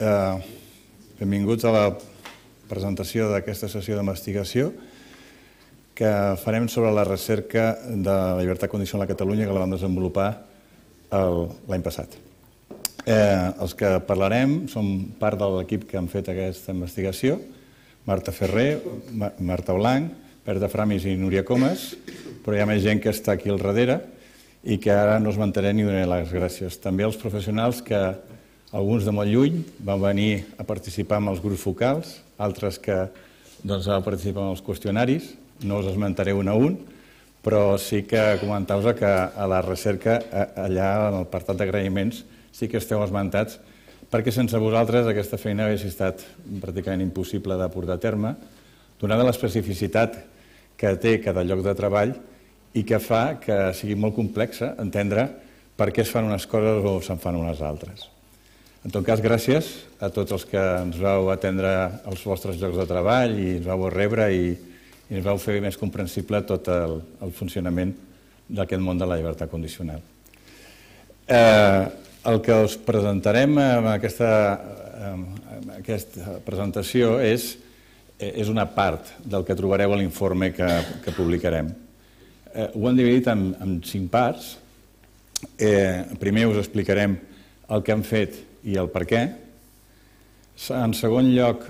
Benvinguts a la presentació d'aquesta sessió d'investigació que farem sobre la recerca de la llibertat condicional a Catalunya que la vam desenvolupar l'any passat. Els que parlarem som part de l'equip que han fet aquesta investigació: Marta Ferrer, Marta Blanc, Berta Framis i Núria Comas, però hi ha més gent que està aquí al darrere i que ara no us mentaré ni donaré les gràcies. També als professionals que, alguns de molt lluny, van venir a participar en els grups focals, altres que van participar en els qüestionaris. No us esmentaré un a un, però sí que comentar-vos que a la recerca, allà en l'apartat d'agraïments, sí que esteu esmentats, perquè sense vosaltres aquesta feina hauria estat pràcticament impossible de portar a terme, donada l'especificitat que té cada lloc de treball i que fa que sigui molt complexa entendre per què es fan unes coses o se'n fan unes altres. En tot cas, gràcies a tots els que ens vau atendre als vostres llocs de treball i ens vau rebre i ens vau fer més comprensible tot el funcionament d'aquest món de la llibertat condicional. El que us presentarem en aquesta presentació és una part del que trobareu a l'informe que publicarem. Ho hem dividit en 5 parts. Primer us explicarem el que hem fet i el per què. En segon lloc,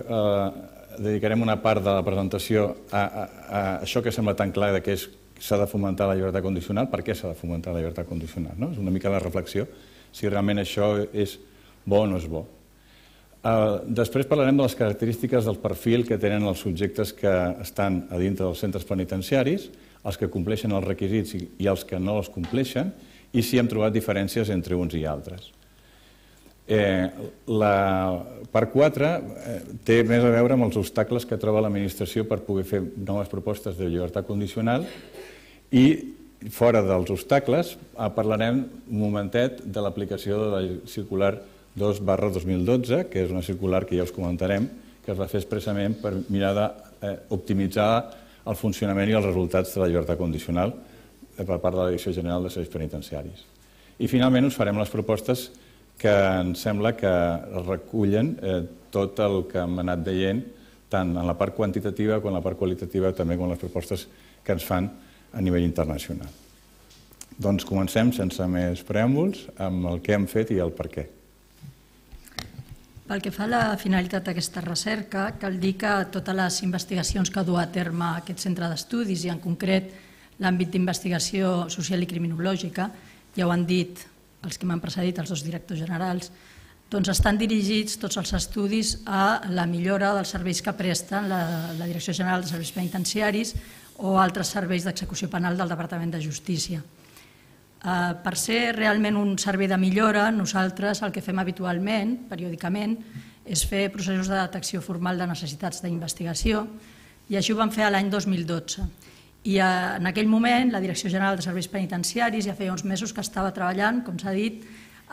dedicarem una part de la presentació a això que sembla tan clar que s'ha de fomentar la llibertat condicional. Per què s'ha de fomentar la llibertat condicional? És una mica la reflexió, si realment això és bo o no és bo. Després parlarem de les característiques del perfil que tenen els subjectes que estan a dintre dels centres penitenciaris, els que compleixen els requisits i els que no els compleixen, i si hem trobat diferències entre uns i altres. La part 4 té més a veure amb els obstacles que troba l'administració per poder fer noves propostes de llibertat condicional i, fora dels obstacles, parlarem un momentet de l'aplicació de la circular 2/2012, que és una circular que ja us comentarem, que es va fer expressament per mirar d'optimitzar el funcionament i els resultats de la llibertat condicional per part de la Direcció General de Serveis Penitenciaris. I finalment us farem les propostes que ens sembla que recullen tot el que hem anat veient, tant en la part quantitativa com en la part qualitativa, també com les propostes que ens fan a nivell internacional. Doncs comencem, sense més preàmbuls, amb el que hem fet i el per què. Pel que fa a la finalitat d'aquesta recerca, cal dir que totes les investigacions que du a terme aquest centre d'estudis, i en concret l'àmbit d'investigació social i criminològica, ja ho han dit els que m'han precedit, els dos directors generals, doncs estan dirigits tots els estudis a la millora dels serveis que presten la Direcció General de Serveis Penitenciaris o altres serveis d'execució penal del Departament de Justícia. Per ser realment un servei de millora, nosaltres el que fem habitualment, periòdicament, és fer processos de detecció formal de necessitats d'investigació, i així ho vam fer l'any 2012. I en aquell moment la Direcció General de Serveis Penitenciaris ja feia uns mesos que estava treballant, com s'ha dit,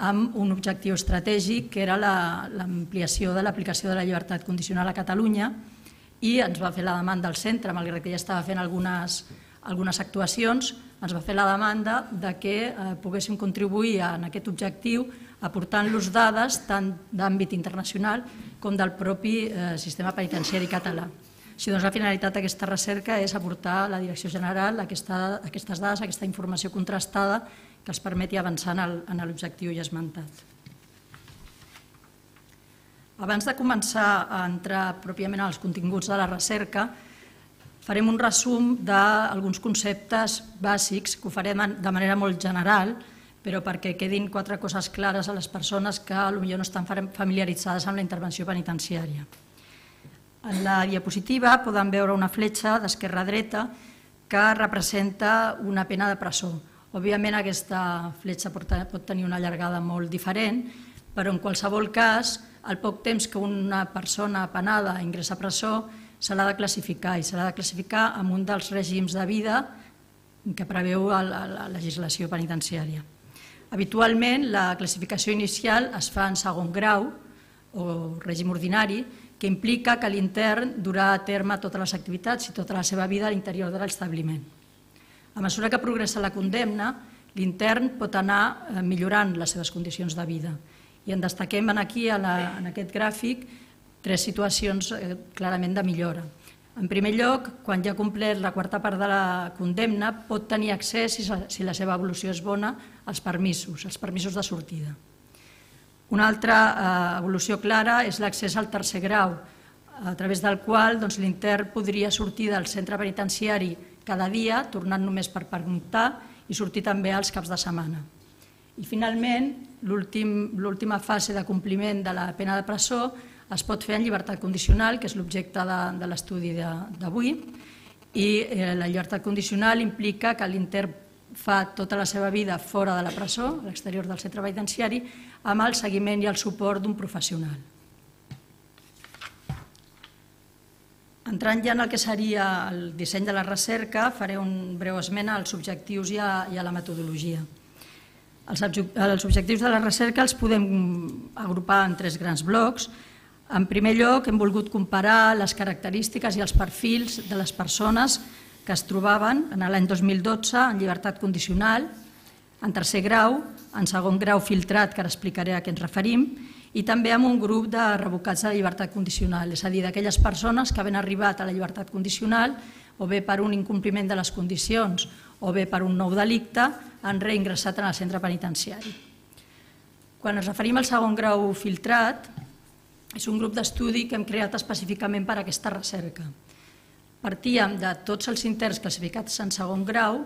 amb un objectiu estratègic que era l'ampliació de l'aplicació de la llibertat condicional a Catalunya, i ens va fer la demanda al centre, malgrat que ja estava fent algunes actuacions, ens va fer la demanda que poguéssim contribuir en aquest objectiu aportant-los dades tant d'àmbit internacional com del propi sistema penitenciari català. Així doncs, la finalitat d'aquesta recerca és aportar a la Direcció General aquestes dades, aquesta informació contrastada que els permeti avançar en l'objectiu ja esmentat. Abans de començar a entrar pròpiament als continguts de la recerca, farem un resum d'alguns conceptes bàsics que ho farem de manera molt general, però perquè quedin 4 coses clares a les persones que potser no estan familiaritzades amb la intervenció penitenciària. En la diapositiva poden veure una fletxa d'esquerra a dreta que representa una pena de presó. Òbviament aquesta fletxa pot tenir una llargada molt diferent, però en qualsevol cas, al poc temps que una persona penada ingressa a presó, se l'ha de classificar, i se l'ha de classificar amb un dels règims de vida que preveu la legislació penitenciària. Habitualment, la classificació inicial es fa en segon grau, o règim ordinari, que implica que l'intern durà a terme totes les activitats i tota la seva vida a l'interior de l'establiment. A mesura que progressa la condemna, l'intern pot anar millorant les seves condicions de vida I en destaquem aquí, en aquest gràfic, 3 situacions clarament de millora. En primer lloc, quan ja ha complert la quarta part de la condemna, pot tenir accés, si la seva evolució és bona, als permisos de sortida. Una altra evolució clara és l'accés al tercer grau, a través del qual l'intern podria sortir del centre penitenciari cada dia, tornant només per pernoctar, i sortir també als caps de setmana. I finalment, l'última fase de compliment de la pena de presó es pot fer en llibertat condicional, que és l'objecte de l'estudi d'avui, i la llibertat condicional implica que l'intern fa tota la seva vida fora de la presó, a l'exterior del centre penitenciari, amb el seguiment i el suport d'un professional. Entrant ja en el que seria el disseny de la recerca, faré un breu esment als objectius i a la metodologia. Els objectius de la recerca els podem agrupar en 3 grans blocs. En primer lloc, hem volgut comparar les característiques i els perfils de les persones que es trobaven en l'any 2012 en llibertat condicional, en tercer grau, en segon grau filtrat, que ara explicaré a què ens referim, i també amb un grup de revocats de la llibertat condicional, és a dir, d'aquelles persones que havent arribat a la llibertat condicional, o bé per un incompliment de les condicions, o bé per un nou delicte, han reingressat en el centre penitenciari. Quan ens referim al segon grau filtrat, és un grup d'estudi que hem creat específicament per a aquesta recerca. Partíem de tots els interns classificats en segon grau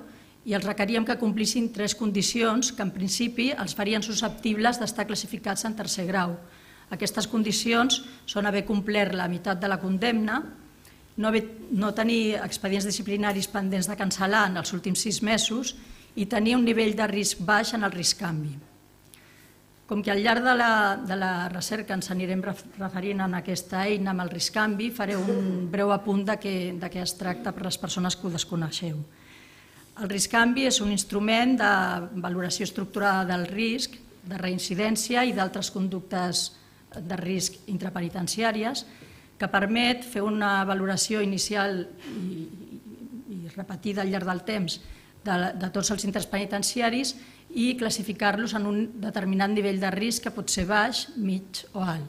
i els requeríem que complissin 3 condicions que en principi els farien susceptibles d'estar classificats en tercer grau. Aquestes condicions són haver complert la meitat de la condemna, no tenir expedients disciplinaris pendents de cancel·lar en els últims 6 mesos i tenir un nivell de risc baix en el risc-canvi. Com que al llarg de la recerca ens anirem referint a aquesta eina amb el risc-canvi, faré un breu apunt de què es tracta per les persones que ho desconeixeu. El risc-canvi és un instrument de valoració estructurada del risc, de reincidència i d'altres conductes de risc intrapenitenciàries que permet fer una valoració inicial i repetida al llarg del temps de tots els interns penitenciaris i classificar-los en un determinat nivell de risc que pot ser baix, mig o alt.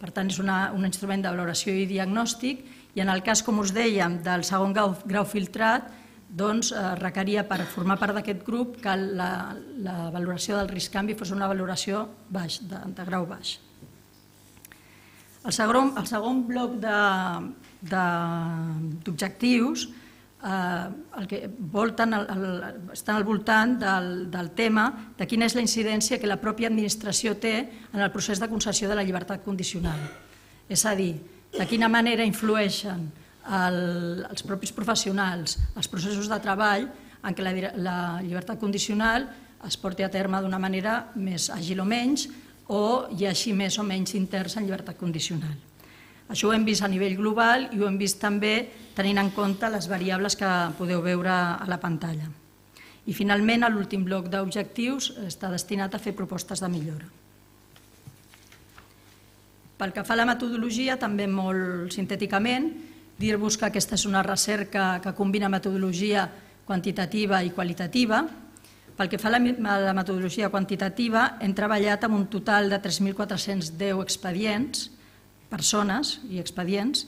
Per tant, és un instrument de valoració i diagnòstic i en el cas, com us dèiem, del segon grau filtrat, doncs requeria per formar part d'aquest grup que la valoració del risc-canvi fos una valoració baix, de grau baix. El segon bloc d'objectius estan al voltant del tema de quina és la incidència que la pròpia administració té en el procés de concessió de la llibertat condicional. És a dir, de quina manera influeixen els propis professionals, els processos de treball en què la llibertat condicional es porti a terme d'una manera més àgil o menys o hi hagi més o menys interns en llibertat condicional. Això ho hem vist a nivell global i ho hem vist també tenint en compte les variables que podeu veure a la pantalla. I finalment, l'últim bloc d'objectius està destinat a fer propostes de millora. Pel que fa a la metodologia, també molt sintèticament, dir-vos que aquesta és una recerca que combina metodologia quantitativa i qualitativa. Pel que fa a la metodologia quantitativa, hem treballat amb un total de 3.410 expedients, persones i expedients.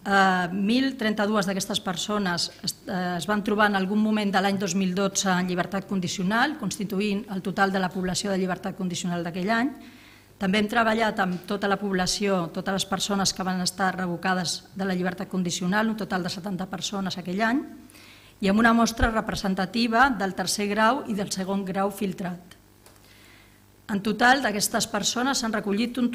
1.032 d'aquestes persones es van trobar en algun moment de l'any 2012 en llibertat condicional, constituint el total de la població de llibertat condicional d'aquell any. També hem treballat amb tota la població, totes les persones que van estar revocades de la llibertat condicional, un total de 70 persones aquell any, i amb una mostra representativa del tercer grau i del segon grau filtrat. En total, d'aquestes persones s'han recollit un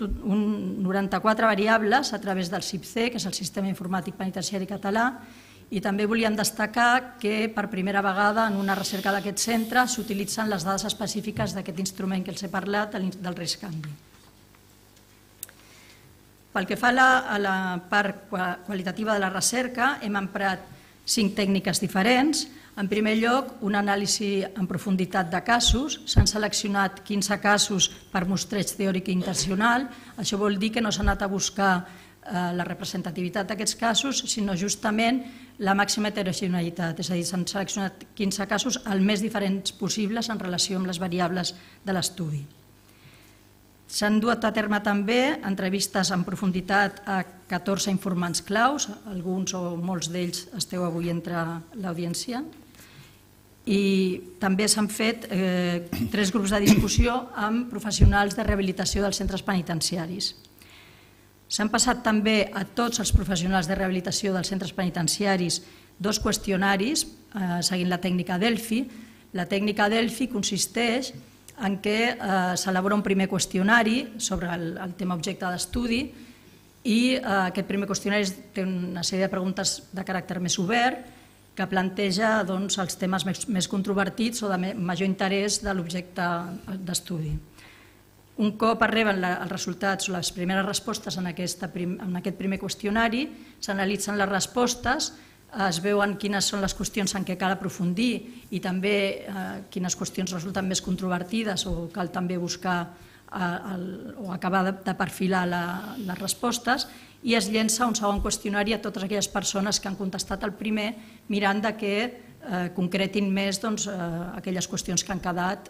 94 variables a través del SIPC, que és el Sistema Informàtic Penitenciari Català, i també volíem destacar que per primera vegada en una recerca d'aquest centre s'utilitzen les dades específiques d'aquest instrument que els he parlat, del risc-canvi. Pel que fa a la part qualitativa de la recerca, hem emprat 5 tècniques diferents. En primer lloc, un anàlisi en profunditat de casos. S'han seleccionat 15 casos per mostreig teòric i intencional. Això vol dir que no s'ha anat a buscar la representativitat d'aquests casos, sinó justament la màxima heterogeneïtat. És a dir, s'han seleccionat 15 casos el més diferents possibles en relació amb les variables de l'estudi. S'han duat a terme també entrevistes en profunditat a 14 informants claus, alguns o molts d'ells esteu avui entre l'audiència, i també s'han fet 3 grups de discussió amb professionals de rehabilitació dels centres penitenciaris. S'han passat també a tots els professionals de rehabilitació dels centres penitenciaris 2 qüestionaris seguint la tècnica Delphi. La tècnica Delphi consisteix en què s'elabora un primer qüestionari sobre el tema objecte d'estudi i aquest primer qüestionari té una sèrie de preguntes de caràcter més obert que planteja els temes més controvertits o de major interès de l'objecte d'estudi. Un cop arriben els resultats o les primeres respostes en aquest primer qüestionari, s'analitzen les respostes, es veuen quines són les qüestions en què cal aprofundir i també quines qüestions resulten més controvertides o cal també buscar o acabar de perfilar les respostes, i es llença un segon qüestionari a totes aquelles persones que han contestat el primer mirant que concretin més aquelles qüestions que han quedat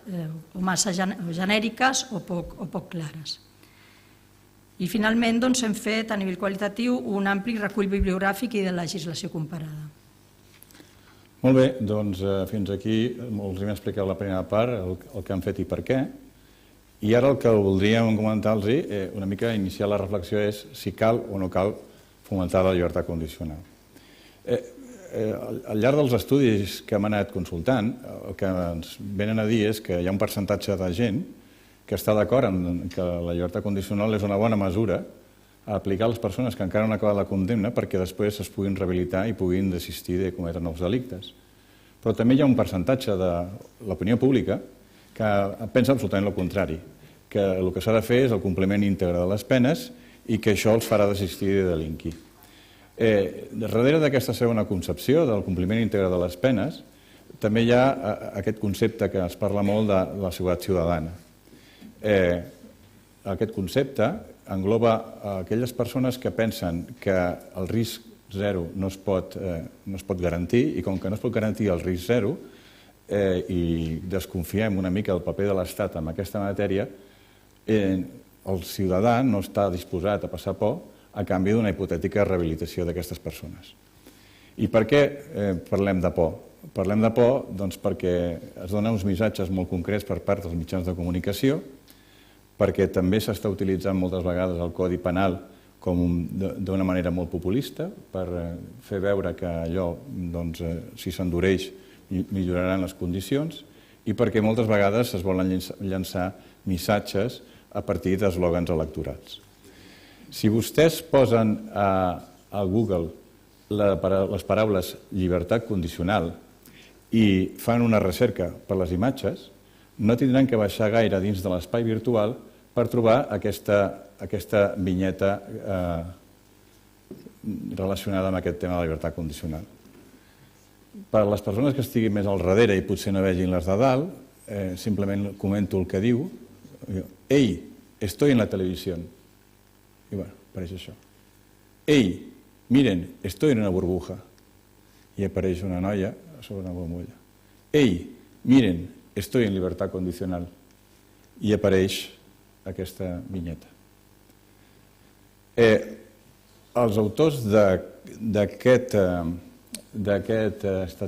o massa genèriques o poc clares. I finalment hem fet a nivell qualitatiu un ampli recull bibliogràfic i de legislació comparada. Molt bé, doncs fins aquí us hem explicat la primera part, el que han fet i per què. I ara el que voldríem comentar-los, una mica iniciar la reflexió, és si cal o no cal fomentar la llibertat condicional. Al llarg dels estudis que hem anat consultant, el que ens venen a dir és que hi ha un percentatge de gent que està d'acord en que la llibertat condicional és una bona mesura a aplicar a les persones que encara no han acabat la condemna perquè després es puguin rehabilitar i puguin desistir de cometre nous delictes. Però també hi ha un percentatge de l'opinió pública que pensa absolutament el contrari, que el que s'ha de fer és el compliment íntegre de les penes i que això els farà desistir de delinquir. Darrere d'aquesta segona concepció del compliment íntegre de les penes també hi ha aquest concepte que es parla molt de la seguretat ciutadana. Aquest concepte engloba aquelles persones que pensen que el risc zero no es pot garantir i com que no es pot garantir el risc zero i desconfiem una mica del paper de l'Estat en aquesta matèria, el ciutadà no està disposat a passar por a canvi d'una hipotètica rehabilitació d'aquestes persones. I per què parlem de por? Parlem de por perquè es donen uns missatges molt concrets per part dels mitjans de comunicació, perquè també s'està utilitzant moltes vegades el Codi Penal d'una manera molt populista per fer veure que allò, si s'endureix, milloraran les condicions i perquè moltes vegades es volen llançar missatges a partir d'eslògans electorals. Si vostès posen a Google les paraules llibertat condicional i fan una recerca per les imatges, no tindran que baixar gaire dins de l'espai virtual per trobar aquesta vinyeta relacionada amb aquest tema de la llibertat condicional. Per a les persones que estiguin més al darrere i potser no vegin les de dalt, simplement comento el que diu. Ei, estoy en la televisión. I bueno, apareix això. Ei, miren, estoy en una burbuja. I apareix una noia sobre una bombolla. Ei, miren, estoy en libertad condicional. I apareix aquesta vinyeta. Els autors d'aquesta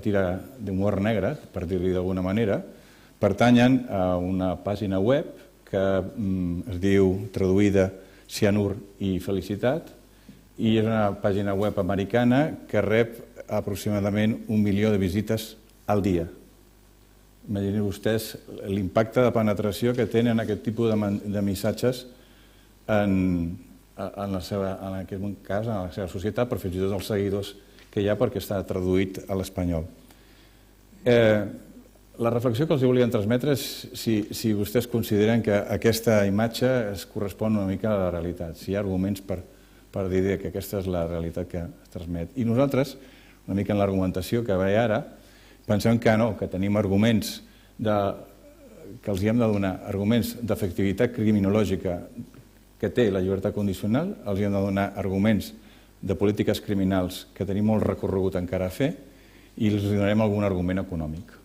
tira d'humor negre, per dir-li d'alguna manera, pertanyen a una pàgina web que es diu traduïda Cianur i Felicitat i és una pàgina web americana que rep aproximadament 1 milió de visites al dia. Imaginin vostès l'impacte de penetració que tenen aquest tipus de missatges en aquest cas, en la seva societat, però fins i tot els seguidors que hi ha perquè està traduït a l'espanyol. La reflexió que els volien transmetre és si vostès consideren que aquesta imatge es correspon una mica a la realitat, si hi ha arguments per dir que aquesta és la realitat que es transmet. I nosaltres, una mica en l'argumentació que veia ara, pensem que no, que tenim arguments que els hem de donar, arguments d'efectivitat criminològica que té la llibertat condicional, els hem de donar arguments de polítiques criminals que tenim molt recorregut encara a fer i els donarem algun argument econòmic.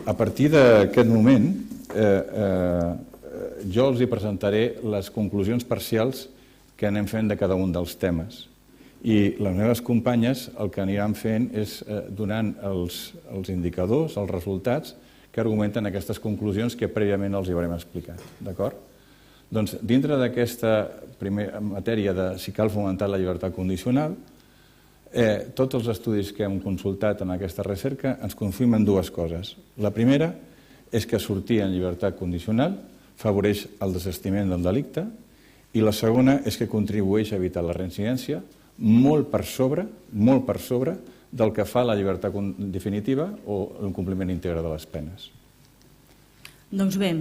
A partir d'aquest moment jo els hi presentaré les conclusions parcials que anem fent de cada un dels temes. I les meves companyes el que aniran fent és donant els indicadors, els resultats que argumenten aquestes conclusions que prèviament els hi haurem explicat. D'acord? Doncs dintre d'aquesta primera matèria de si cal fomentar la llibertat condicional, tots els estudis que hem consultat en aquesta recerca ens confirmen dues coses. La primera és que sortir en llibertat condicional favoreix el desistiment del delicte i la segona és que contribueix a evitar la reincidència molt per sobre del que fa la llibertat definitiva o l'incompliment íntegre de les penes. Doncs bé,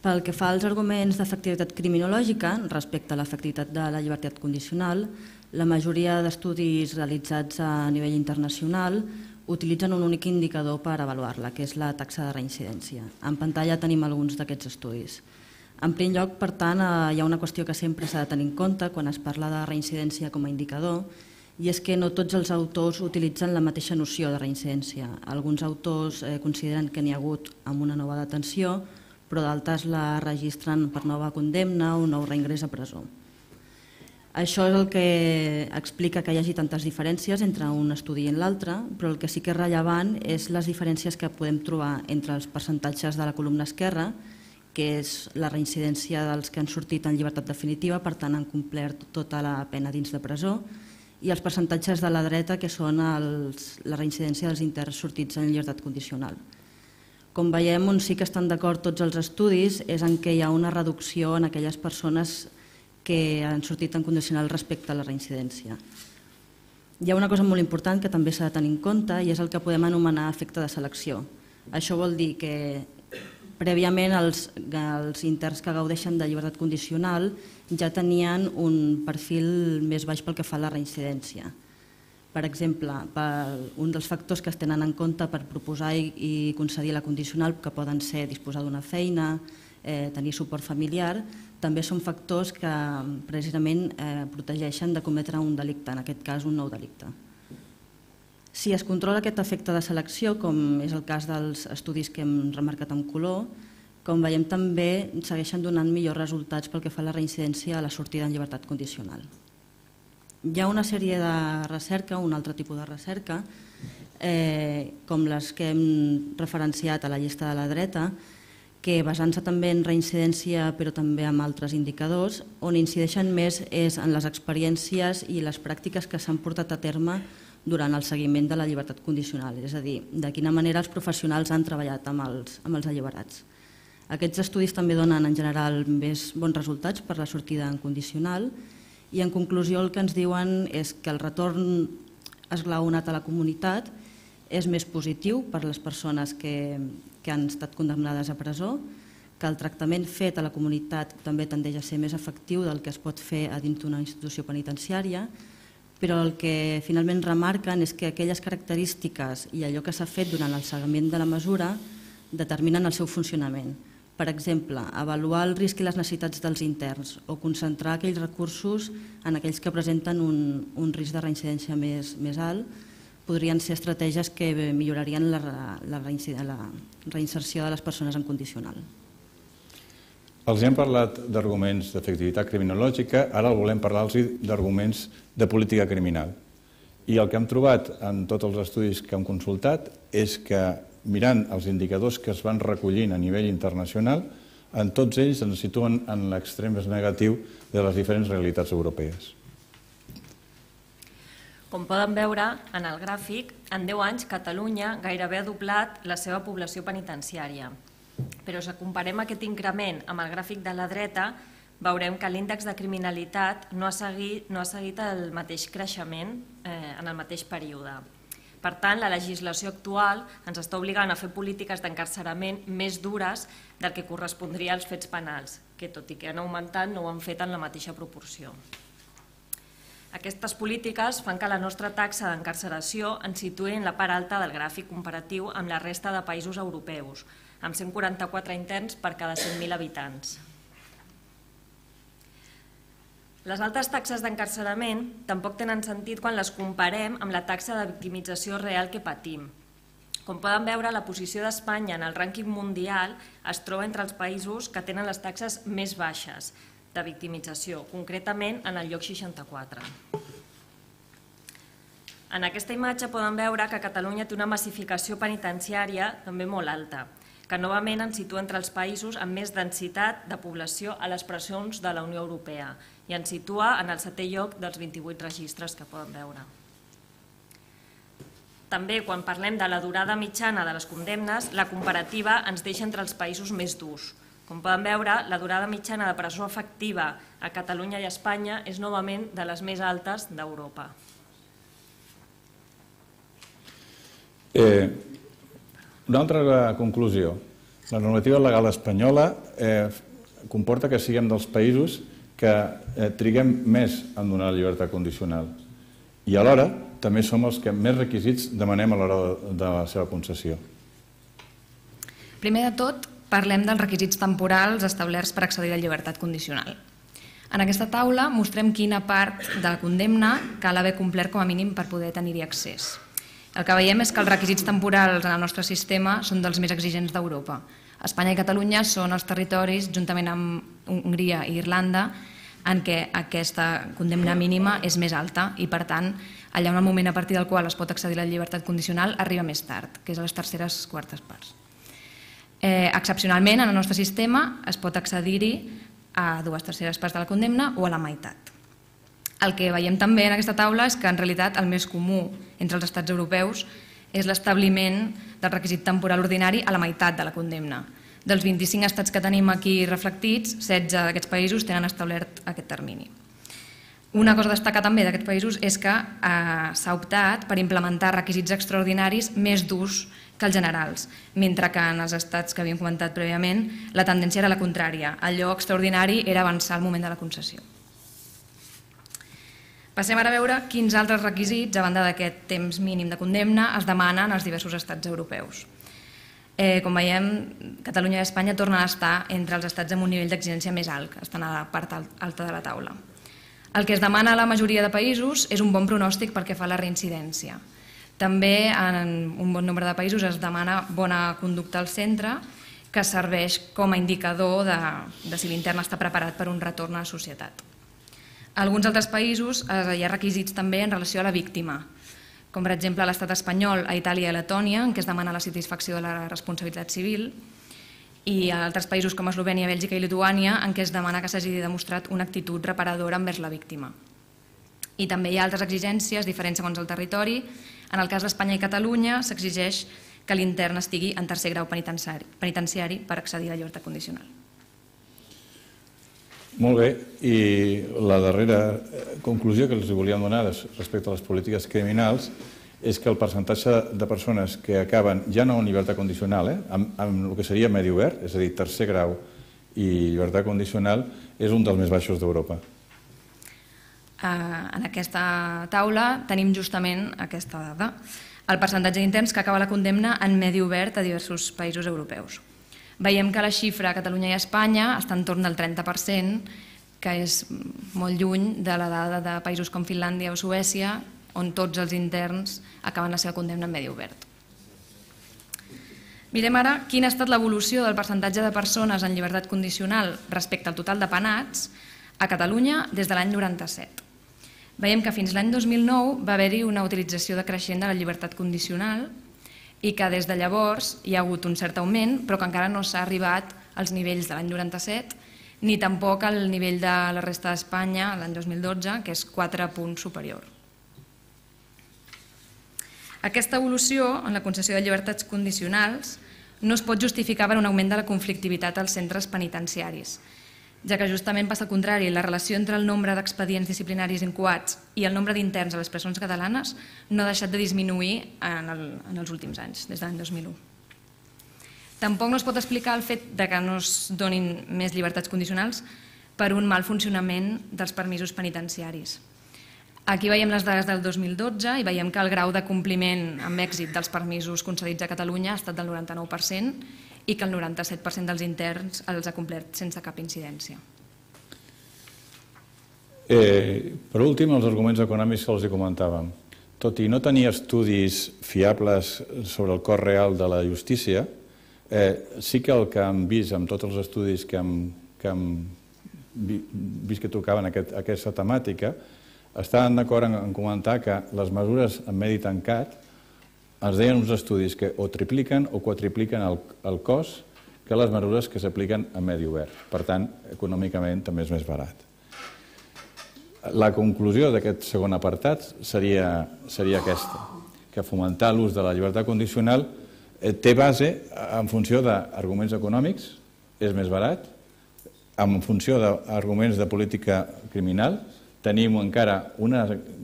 pel que fa als arguments d'efectivitat criminològica respecte a l'efectivitat de la llibertat condicional, la majoria d'estudis realitzats a nivell internacional utilitzen un únic indicador per avaluar-la, que és la taxa de reincidència. En pantalla tenim alguns d'aquests estudis. En primer lloc, per tant, hi ha una qüestió que sempre s'ha de tenir en compte quan es parla de reincidència com a indicador, i és que no tots els autors utilitzen la mateixa noció de reincidència. Alguns autors consideren que n'hi ha hagut amb una nova detenció, però d'altres la registren per nova condemna o nou reingrés a presó. Això és el que explica que hi hagi tantes diferències entre un estudi i l'altre, però el que sí que és rellevant és les diferències que podem trobar entre els percentatges de la columna esquerra, que és la reincidència dels que han sortit en llibertat definitiva, per tant han complert tota la pena dins de presó, i els percentatges de la dreta, que són la reincidència dels interns sortits en llibertat condicional. Com veiem, on sí que estan d'acord tots els estudis és en què hi ha una reducció en aquelles persones que han sortit en condicional respecte a la reincidència. Hi ha una cosa molt important que també s'ha de tenir en compte i és el que podem anomenar efecte de selecció. Això vol dir que prèviament els interns que gaudeixen de llibertat condicional ja tenien un perfil més baix pel que fa a la reincidència. Per exemple, un dels factors que es tenen en compte per proposar i concedir la condicional, que poden ser disposar d'una feina, tenir suport familiar, també són factors que precisament protegeixen de cometre un delicte, en aquest cas un nou delicte. Si es controla aquest efecte de selecció, com és el cas dels estudis que hem remarcat en color, com veiem també segueixen donant millors resultats pel que fa a la reincidència a la sortida en llibertat condicional. Hi ha una sèrie de recerca, un altre tipus de recerca, com les que hem referenciat a la llista de la dreta, que basant-se també en reincidència però també en altres indicadors, on incideixen més és en les experiències i les pràctiques que s'han portat a terme durant el seguiment de la llibertat condicional, és a dir, de quina manera els professionals han treballat amb els alliberats. Aquests estudis també donen en general més bons resultats per la sortida en condicional i en conclusió el que ens diuen és que el retorn esglaonat a la comunitat és més positiu per a les persones que han estat condemnades a presó, que el tractament fet a la comunitat també tendeix a ser més efectiu del que es pot fer a dins d'una institució penitenciària, però el que finalment remarquen és que aquelles característiques i allò que s'ha fet durant el seguiment de la mesura determinen el seu funcionament. Per exemple, avaluar el risc i les necessitats dels interns o concentrar aquells recursos en aquells que presenten un risc de reincidència més alt podrien ser estratègies que millorarien la reinserció de les persones en condicional. Els hem parlat d'arguments d'efectivitat criminològica, ara volem parlar-los d'arguments de política criminal. I el que hem trobat en tots els estudis que hem consultat és que mirant els indicadors que es van recollint a nivell internacional, en tots ells ens situen en l'extrem més negatiu de les diferents realitats europees. Com poden veure en el gràfic, en 10 anys Catalunya gairebé ha doblat la seva població penitenciària. Però si comparem aquest increment amb el gràfic de la dreta, veurem que l'índex de criminalitat no ha seguit el mateix creixement en el mateix període. Per tant, la legislació actual ens està obligant a fer polítiques d'encarcerament més dures del que correspondria als fets penals, que tot i que han augmentat no ho han fet en la mateixa proporció. Aquestes polítiques fan que la nostra taxa d'encarceració ens situï en la part alta del gràfic comparatiu amb la resta de països europeus, amb 144 interns per cada 100.000 habitants. Les altes taxes d'encarcerament tampoc tenen sentit quan les comparem amb la taxa de victimització real que patim. Com poden veure, la posició d'Espanya en el rànquing mundial es troba entre els països que tenen les taxes més baixes de victimització, concretament en el lloc 64. En aquesta imatge poden veure que Catalunya té una massificació penitenciària també molt alta, que novament ens situa entre els països amb més densitat de població a les presons de la Unió Europea i ens situa en el 7è lloc dels 28 registres que poden veure. També, quan parlem de la durada mitjana de les condemnes, la comparativa ens deixa entre els països més durs. Com poden veure, la durada mitjana de presó efectiva a Catalunya i a Espanya és novament de les més altes d'Europa. Una altra conclusió. La normativa legal espanyola comporta que siguem dels països que triguem més en donar llibertat condicional i alhora també som els que més requisits demanem a l'hora de la seva concessió. Primer de tot, parlem dels requisits temporals establerts per accedir a la llibertat condicional. En aquesta taula mostrem quina part de la condemna cal haver complert com a mínim per poder tenir-hi accés. El que veiem és que els requisits temporals en el nostre sistema són dels més exigents d'Europa. Espanya i Catalunya són els territoris, juntament amb Hongria i Irlanda, en què aquesta condemna mínima és més alta i, per tant, allà on el moment a partir del qual es pot accedir a la llibertat condicional arriba més tard, que és a les terceres quartes parts. Excepcionalment, en el nostre sistema es pot accedir-hi a 2/3 parts de la condemna o a la meitat. El que veiem també en aquesta taula és que en realitat el més comú entre els estats europeus és l'establiment del requisit temporal ordinari a la meitat de la condemna. Dels 25 estats que tenim aquí reflectits, 16 d'aquests països tenen establert aquest termini. Una cosa a destacar també d'aquests països és que s'ha optat per implementar requisits extraordinaris més durs que els generals, mentre que en els estats que havíem comentat prèviament la tendència era la contrària. Allò extraordinari era avançar el moment de la concessió. Passem ara a veure quins altres requisits, a banda d'aquest temps mínim de condemna, es demanen als diversos estats europeus. Com veiem, Catalunya i Espanya tornen a estar entre els estats amb un nivell d'exigència més alt, que estan a la part alta de la taula. El que es demana a la majoria de països és un bon pronòstic pel que fa a la reincidència. També en un bon nombre de països es demana bona conducta al centre, que serveix com a indicador de si l'intern està preparat per un retorn a la societat. A alguns altres països hi ha requisits també en relació a la víctima, com per exemple a l'estat espanyol, a Itàlia i a Letònia, en què es demana la satisfacció de la responsabilitat civil, i a altres països com Eslovènia, Bèlgica i Lituània, en què es demana que s'hagi demostrat una actitud reparadora envers la víctima. I també hi ha altres exigències diferents segons el territori. En el cas d'Espanya i Catalunya s'exigeix que l'intern estigui en tercer grau penitenciari per accedir a la llibertat condicional. Molt bé, i la darrera conclusió que els volíem donar respecte a les polítiques criminals és que el percentatge de persones que acaben ja no en llibertat condicional, amb el que seria medi obert, és a dir, tercer grau i llibertat condicional, és un dels més baixos d'Europa. En aquesta taula tenim justament aquesta dada, el percentatge d'interns que acaba la condemna en medi obert a diversos països europeus. Veiem que la xifra a Catalunya i a Espanya està entorn del 30%, que és molt lluny de la dada de països com Finlàndia o Suècia, on tots els interns acaben la seva condemna en medi obert. Mirem ara quina ha estat l'evolució del percentatge de persones en llibertat condicional respecte al total de penats a Catalunya des de l'any 97. Veiem que fins l'any 2009 va haver-hi una utilització decreixent de la llibertat condicional i que des de llavors hi ha hagut un cert augment, però que encara no s'ha arribat als nivells de l'any 97, ni tampoc al nivell de la resta d'Espanya l'any 2012, que és 4 punts superior. Aquesta evolució en la concessió de llibertats condicionals no es pot justificar per un augment de la conflictivitat als centres penitenciaris, ja que justament passa el contrari, la relació entre el nombre d'expedients disciplinaris incoats i el nombre d'interns a les presons catalanes no ha deixat de disminuir en els últims anys, des de l'any 2001. Tampoc no es pot explicar el fet que no es donin més llibertats condicionals per un mal funcionament dels permisos penitenciaris. Aquí veiem les dades del 2012 i veiem que el grau de compliment amb èxit dels permisos concedits a Catalunya ha estat del 99%, i que el 97% dels interns els ha complert sense cap incidència. Per últim, els arguments econòmics que els comentàvem. tot i no tenir estudis fiables sobre el cost real de la justícia, sí que el que hem vist amb tots els estudis que hem vist que tocaven aquesta temàtica, estaven d'acord en comentar que les mesures en medi tancat ens deien uns estudis que o tripliquen o quadripliquen el cost que les mesures que s'apliquen en medi obert. Per tant, econòmicament també és més barat. La conclusió d'aquest segon apartat seria aquesta, que fomentar l'ús de la llibertat condicional té base en funció d'arguments econòmics, és més barat, en funció d'arguments de política criminal, tenim encara un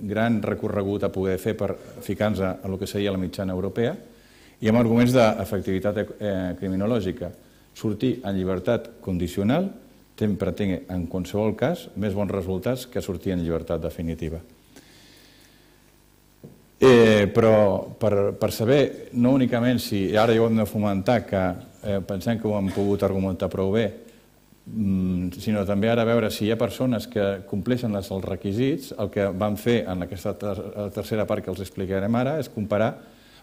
gran recorregut a poder fer per ficar-nos en el que seria la mitjana europea, i amb arguments d'efectivitat criminològica. Sortir en llibertat condicional sempre té, en qualsevol cas, més bons resultats que sortir en llibertat definitiva. Però per saber, no únicament si ara ja ho hem de fomentar, que pensem que ho hem pogut argumentar prou bé, sinó també ara veure si hi ha persones que compleixen els requisits, el que vam fer en aquesta tercera part que els explicarem ara és comparar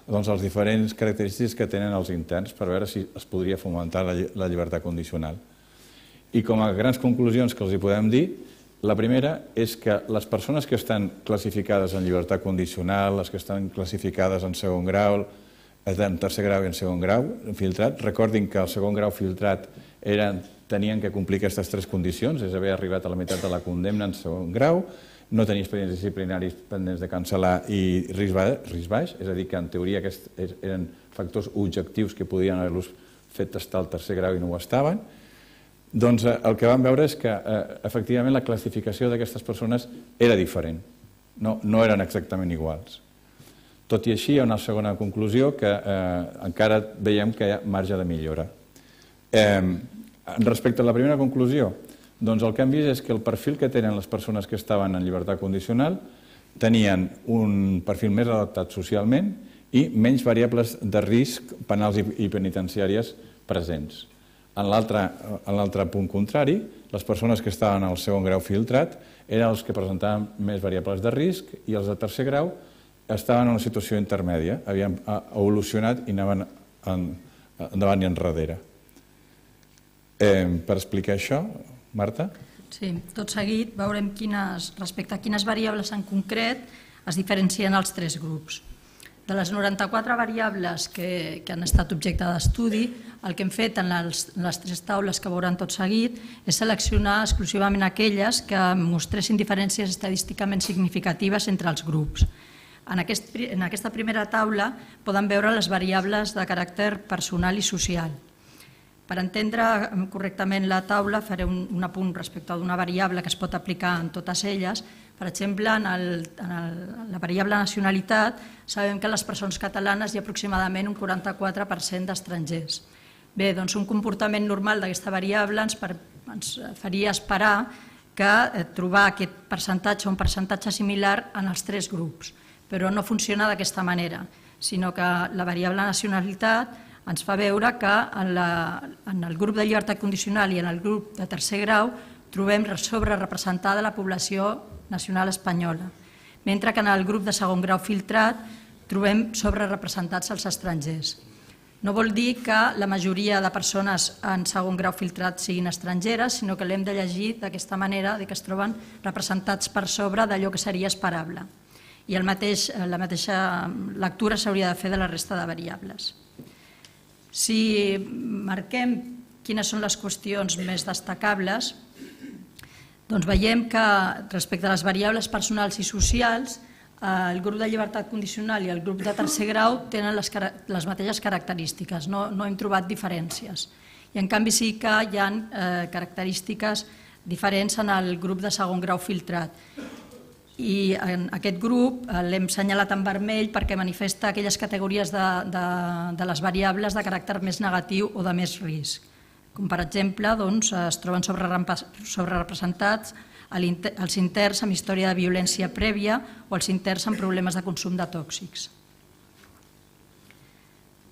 les diferents característiques que tenen els interns per veure si es podria fomentar la llibertat condicional. I com a grans conclusions que els hi podem dir, la primera és que les persones que estan classificades en llibertat condicional, les que estan classificades en segon grau, en tercer grau i en segon grau filtrat, recordin que el segon grau filtrat tenien que complir aquestes tres condicions, és haver arribat a la meitat de la condemna en segon grau, no tenir expedients disciplinaris pendents de cancel·lar i risc baix, és a dir, que en teoria aquests eren factors objectius que podien haver-los fet estar al tercer grau i no ho estaven. Doncs el que vam veure és que efectivament la classificació d'aquestes persones era diferent, no eren exactament iguals. Tot i així, hi ha una segona conclusió que encara veiem que hi ha marge de millora. Respecte a la primera conclusió, doncs el que hem vist és que el perfil que tenen les persones que estaven en llibertat condicional tenien un perfil més adaptat socialment i menys variables de risc penals i penitenciàries presents. En l'altre punt contrari, les persones que estaven al segon grau filtrat eren els que presentaven més variables de risc i els de tercer grau estaven en una situació intermèdia, havien evolucionat i anaven endavant i enrere. Per explicar això, Marta? Sí, tot seguit veurem respecte a quines variables en concret es diferencien els tres grups. De les 94 variables que han estat objecte d'estudi, el que hem fet en les tres taules que veuran tot seguit és seleccionar exclusivament aquelles que mostressin diferències estadísticament significatives entre els grups. En aquesta primera taula poden veure les variables de caràcter personal i social. Per entendre correctament la taula faré un apunt respecte d'una variable que es pot aplicar en totes elles. Per exemple, en la variable nacionalitat sabem que a les presons catalanes hi ha aproximadament un 44% d'estrangers. Bé, doncs un comportament normal d'aquesta variable ens faria esperar que trobar aquest percentatge o un percentatge similar en els tres grups, però no funciona d'aquesta manera, sinó que la variable nacionalitat ens fa veure que en el grup de llibertat condicional i en el grup de tercer grau trobem sobrerepresentada la població nacional espanyola, mentre que en el grup de segon grau filtrat trobem sobrerepresentats els estrangers. No vol dir que la majoria de persones en segon grau filtrat siguin estrangeres, sinó que l'hem de llegir d'aquesta manera, que es troben representats per sobre d'allò que seria esperable. I la mateixa lectura s'hauria de fer de la resta de variables. Si marquem quines són les qüestions més destacables, doncs veiem que respecte a les variables personals i socials, el grup de llibertat condicional i el grup de tercer grau tenen les mateixes característiques, no hem trobat diferències. I en canvi sí que hi ha característiques diferents en el grup de segon grau filtrat. I en aquest grup l'hem assenyalat en vermell perquè manifesta aquelles categories de les variables de caràcter més negatiu o de més risc. Com per exemple, es troben sobrerepresentats els interns amb història de violència prèvia o els interns amb problemes de consum de tòxics.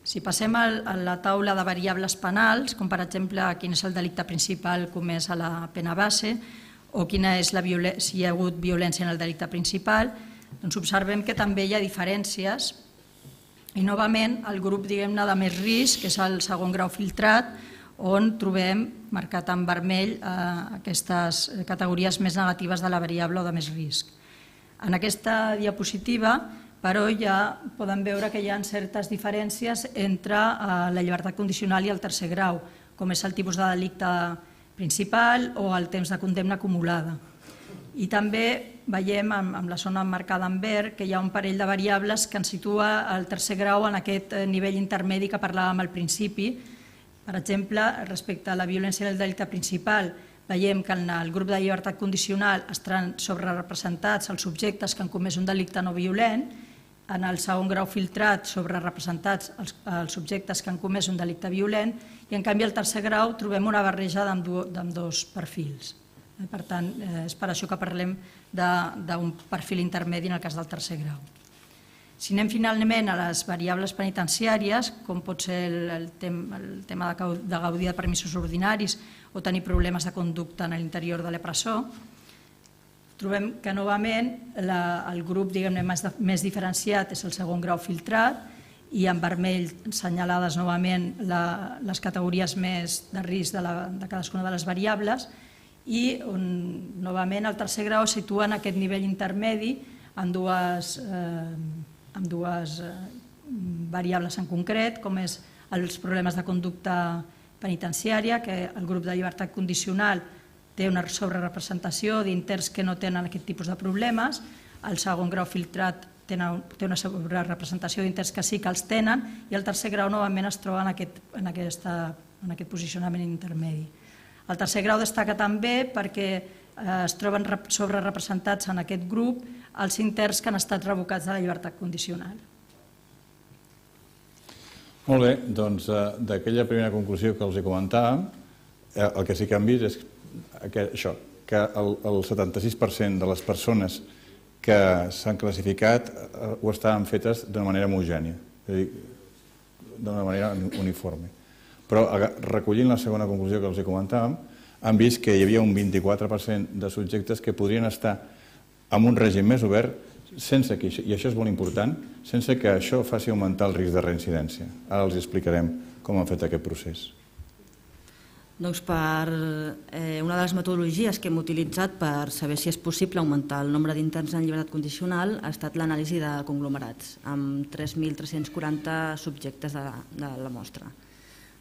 Si passem a la taula de variables penals, com per exemple quin és el delicte principal comès a la pena base o si hi ha hagut violència en el delicte principal, Doncs observem que també hi ha diferències i novament el grup de més risc, que és el segon grau filtrat, on trobem marcat en vermell aquestes categories més negatives de la variable o de més risc. En aquesta diapositiva, però, ja poden veure que hi ha certes diferències entre la llibertat condicional i el tercer grau, com és el tipus de delicte principal o el temps de condemna acumulada. I també veiem amb la zona marcada en verd que hi ha un parell de variables que ens situa el tercer grau en aquest nivell intermedi que parlàvem al principi. Per exemple, respecte a la violència del delicte principal, veiem que en el grup de llibertat condicional estan sobrerepresentats els subjectes que han comès un delicte no violent, en el segon grau filtrat sobrerepresentats els subjectes que han comès un delicte violent i en canvi al tercer grau trobem una barreja d'ambdós perfils. Per tant, és per això que parlem d'un perfil intermedi en el cas del tercer grau. Si anem finalment a les variables penitenciàries, com pot ser el tema de gaudir de permisos ordinaris o tenir problemes de conducta en l'interior de la presó, trobem que novament el grup més diferenciat és el segon grau filtrat i en vermell assenyalades novament les categories més de risc de cadascuna de les variables i novament el tercer grau es situa en aquest nivell intermedi amb dues variables en concret, com és els problemes de conducta penitenciària, que el grup de llibertat condicional té una sobrerepresentació d'interns que no tenen aquest tipus de problemes, el segon grau filtrat té una sobrerepresentació d'interns que sí que els tenen i el tercer grau novament es troba en aquest posicionament intermedi. El tercer grau destaca també perquè es troben sobrerepresentats en aquest grup els interns que han estat revocats de la llibertat condicional. Molt bé, doncs d'aquella primera conclusió que els comentàvem, el que sí que han vist és això, que el 76% de les persones que s'han classificat ho estaven fetes d'una manera homogènia, és a dir, d'una manera uniforme. Però recollint la segona conclusió que els comentàvem, han vist que hi havia un 24% de subjectes que podrien estar en un règim més obert sense que, i això és molt important, sense que això faci augmentar el risc de reincidència. Ara els explicarem com han fet aquest procés. Doncs una de les metodologies que hem utilitzat per saber si és possible augmentar el nombre d'interns en llibertat condicional ha estat l'anàlisi de conglomerats, amb 3.340 subjectes de la mostra.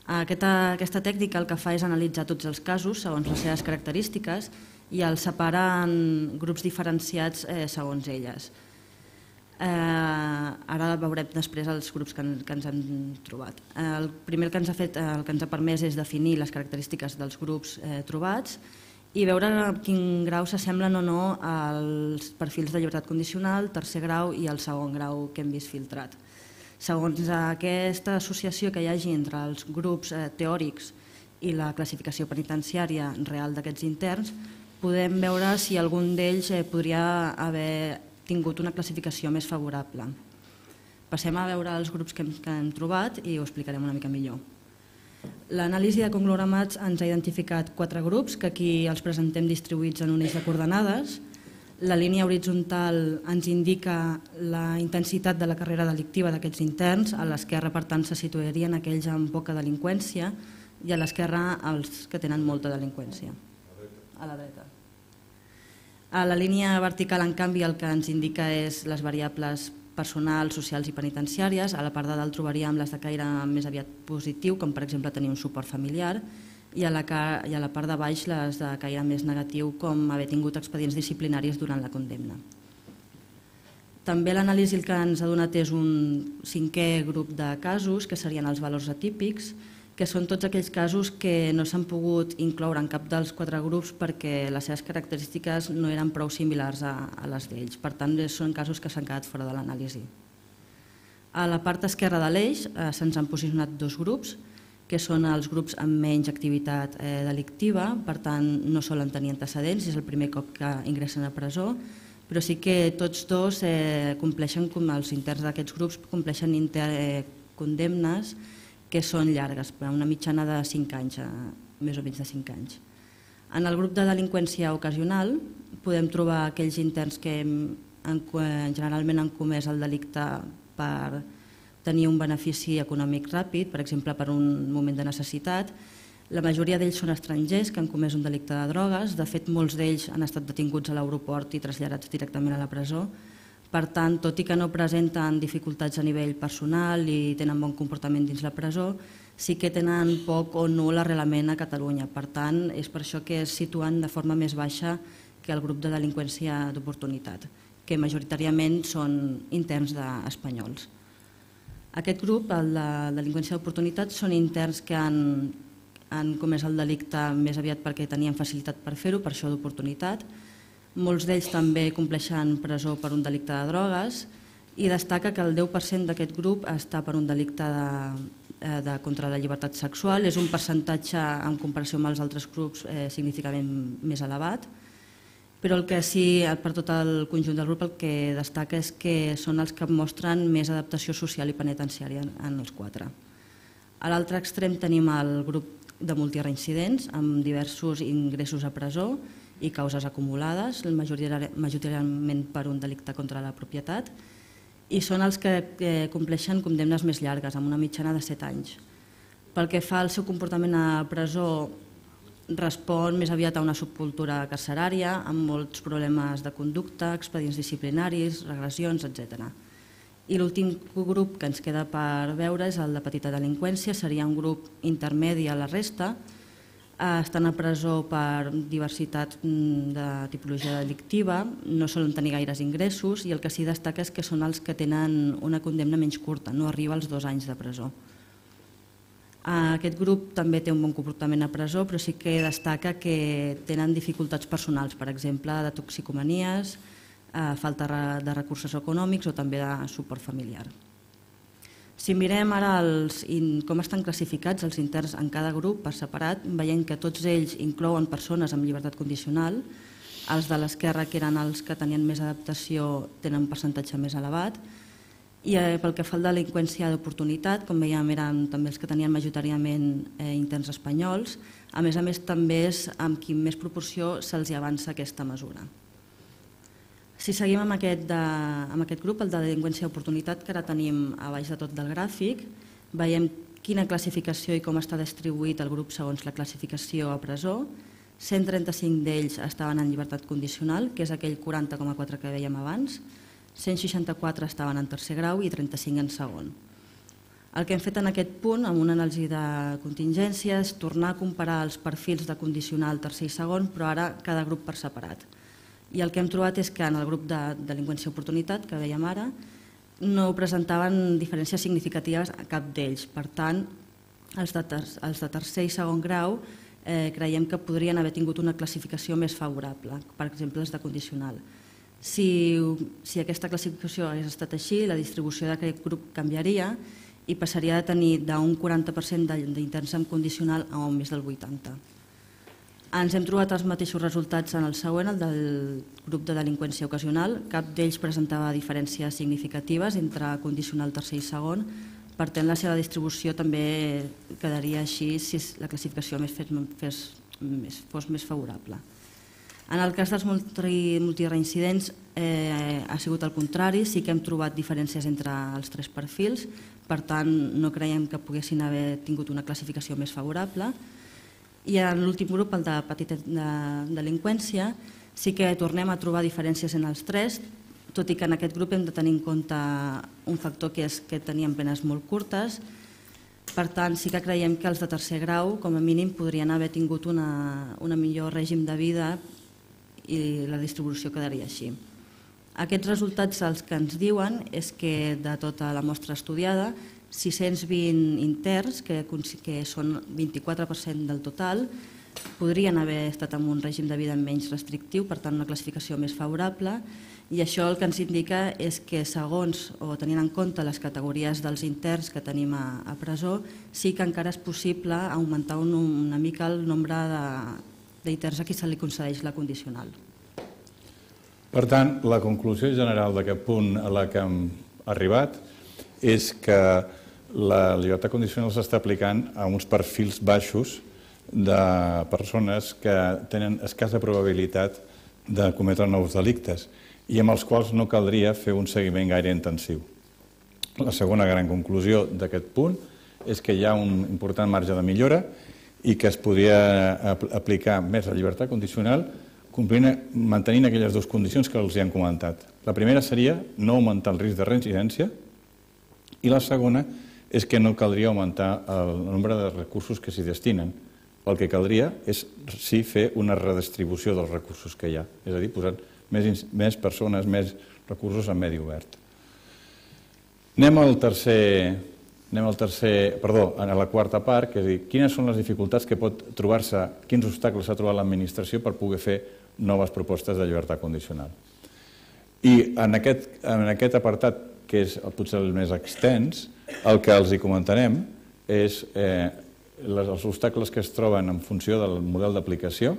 Aquesta tècnica el que fa és analitzar tots els casos segons les seves característiques i els separa en grups diferenciats segons elles. Ara veurem després els grups que ens han trobat. El primer que ens ha permès és definir les característiques dels grups trobats i veure a quin grau s'assemblen o no als perfils de llibertat condicional, tercer grau i el segon grau que hem vist filtrat. Segons aquesta associació que hi hagi entre els grups teòrics i la classificació penitenciària real d'aquests interns, podem veure si algun d'ells podria haver tingut una classificació més favorable. Passem a veure els grups que hem trobat i ho explicarem una mica millor. L'anàlisi de conglomerats ens ha identificat 4 grups, que aquí els presentem distribuïts en un eix de coordenades. La línia horitzontal ens indica la intensitat de la carrera delictiva d'aquests interns, a l'esquerra, per tant, se situarien aquells amb poca delinqüència i a l'esquerra els que tenen molta delinqüència. A la dreta. A la línia vertical, en canvi, el que ens indica és les variables personals, socials i penitenciàries. A la part de dalt trobaríem les de caire més aviat positiu, com per exemple tenir un suport familiar, i a la part de baix les de caire més negatiu, com haver tingut expedients disciplinaris durant la condemna. També l'anàlisi el que ens ha donat és un 5è grup de casos, que serien els valors atípics, que són tots aquells casos que no s'han pogut incloure en cap dels 4 grups perquè les seves característiques no eren prou similars a les d'ells. Per tant, són casos que s'han quedat fora de l'anàlisi. A la part esquerra de l'eix se'ns han posicionat 2 grups, que són els grups amb menys activitat delictiva, per tant no solen tenir antecedents, és el primer cop que ingressen a presó, però sí que tots dos compleixen, com els interns d'aquests grups, compleixen condemnes que són llargues, una mitjana de 5 anys, més o menys de 5 anys. En el grup de delinqüència ocasional podem trobar aquells interns que generalment han comès el delicte per tenir un benefici econòmic ràpid, per exemple, per un moment de necessitat. La majoria d'ells són estrangers que han comès un delicte de drogues. De fet, molts d'ells han estat detinguts a l'aeroport i traslladats directament a la presó. Per tant, tot i que no presenten dificultats a nivell personal i tenen bon comportament dins la presó, sí que tenen poc o nul arrelament a Catalunya. Per tant, és per això que es situen de forma més baixa que el grup de delinqüència d'oportunitat, que majoritàriament són interns espanyols. Aquest grup, el de delinqüència d'oportunitat, són interns que han comès el delicte més aviat perquè tenien facilitat per fer-ho, per això d'oportunitat. Molts d'ells també compleixen presó per un delicte de drogues i destaca que el 10% d'aquest grup està per un delicte contra la llibertat sexual. És un percentatge, en comparació amb els altres grups, significativament més elevat. Però el que sí, per tot el conjunt del grup, el que destaca és que són els que mostren més adaptació social i penitenciària en els quatre. A l'altre extrem tenim el grup de multireincidents amb diversos ingressos a presó i causes acumulades, majoritàriament per un delicte contra la propietat, i són els que compleixen condemnes més llargues, amb una mitjana de 7 anys. Pel que fa al seu comportament a presó, respon més aviat a una subcultura carcerària, amb molts problemes de conducta, expedients disciplinaris, regressions, etc. I l'últim grup que ens queda per veure és el de petita delinqüència, seria un grup intermedi a la resta. Estan a presó per diversitat de tipologia delictiva, no solen tenir gaires ingressos i el que sí destaca és que són els que tenen una condemna menys curta, no arriba als 2 anys de presó. Aquest grup també té un bon comportament a presó, però sí que destaca que tenen dificultats personals, per exemple, de toxicomanies, falta de recursos econòmics o també de suport familiar. Si mirem ara com estan classificats els interns en cada grup per separat, veiem que tots ells inclouen persones amb llibertat condicional. Els de l'esquerra, que eren els que tenien més adaptació, tenen un percentatge més elevat. I pel que fa a la delinqüència d'oportunitat, com veiem, eren també els que tenien majoritàriament interns espanyols. A més, també és amb qui més proporció se'ls avança aquesta mesura. Si seguim amb aquest grup, el de delinqüència d'oportunitat, que ara tenim a baix de tot del gràfic, veiem quina classificació i com està distribuït el grup segons la classificació a presó. 135 d'ells estaven en llibertat condicional, que és aquell 40,4 que vèiem abans. 164 estaven en tercer grau i 35 en segon. El que hem fet en aquest punt, amb una anàlisi de contingència, és tornar a comparar els perfils de condicional tercer i segon, però ara cada grup per separat. I el que hem trobat és que en el grup de delinqüència oportunitat, que veiem ara, no presentaven diferències significatives a cap d'ells. Per tant, els de tercer i segon grau creiem que podrien haver tingut una classificació més favorable, per exemple els de condicional. Si aquesta classificació hagués estat així, la distribució d'aquest grup canviaria i passaria de tenir d'un 40% d'interns en condicional a un més del 80%. Ens hem trobat els mateixos resultats en el següent, el del grup de delinqüència ocasional. Cap d'ells presentava diferències significatives entre condicional tercer i segon. Per tant, la seva distribució també quedaria així si la classificació fos més favorable. En el cas dels multireincidents ha sigut el contrari, sí que hem trobat diferències entre els 3 perfils, per tant no creiem que poguessin haver tingut una classificació més favorable. I en l'últim grup, el de petita delinqüència, sí que tornem a trobar diferències en els 3, tot i que en aquest grup hem de tenir en compte un factor que és que tenien penes molt curtes. Per tant, sí que creiem que els de tercer grau, com a mínim, podrien haver tingut un millor règim de vida i la distribució quedaria així. Aquests resultats els que ens diuen és que de tota la mostra estudiada, 620 interns, que són 24% del total, podrien haver estat en un règim de vida menys restrictiu, per tant una classificació més favorable, i això el que ens indica és que segons o tenint en compte les categories dels interns que tenim a presó, sí que encara és possible augmentar una mica el nombre d'interns a qui se li concedeix la condicional. Per tant, la conclusió general d'aquest punt a la que hem arribat és que la llibertat condicional s'està aplicant a uns perfils baixos de persones que tenen escassa probabilitat de cometre nous delictes i amb els quals no caldria fer un seguiment gaire intensiu. La segona gran conclusió d'aquest punt és que hi ha un important marge de millora i que es podria aplicar més la llibertat condicional mantenint aquelles dues condicions que els hi han comentat. La primera seria no augmentar el risc de reincidència i la segona és que no caldria augmentar el nombre de recursos que s'hi destinen. El que caldria és sí fer una redistribució dels recursos que hi ha, és a dir, posar més persones, més recursos en medi obert. Anem a la quarta part, que és dir, quines són les dificultats que pot trobar-se, quins obstacles ha trobat l'administració per poder fer noves propostes de llibertat condicional. I en aquest apartat, que és potser el més extens, el que els hi comentarem és els obstacles que es troben en funció del model d'aplicació,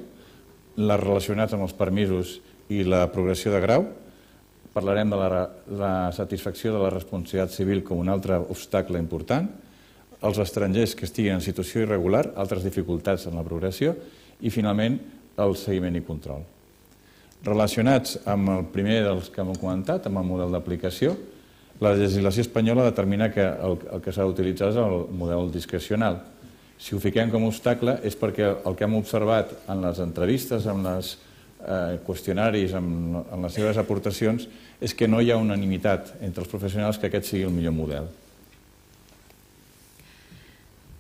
les relacionats amb els permisos i la progressió de grau. Parlarem de la satisfacció de la responsabilitat civil com un altre obstacle important, els estrangers que estiguin en situació irregular, altres dificultats en la progressió i, finalment, el seguiment i control. Relacionats amb el primer dels que hem comentat, amb el model d'aplicació, la legislació espanyola determina que el que s'ha d'utilitzar és el model discrecional. Si ho fiquem com a obstacle és perquè el que hem observat en les entrevistes, en els qüestionaris, en les seves aportacions, és que no hi ha unanimitat entre els professionals que aquest sigui el millor model.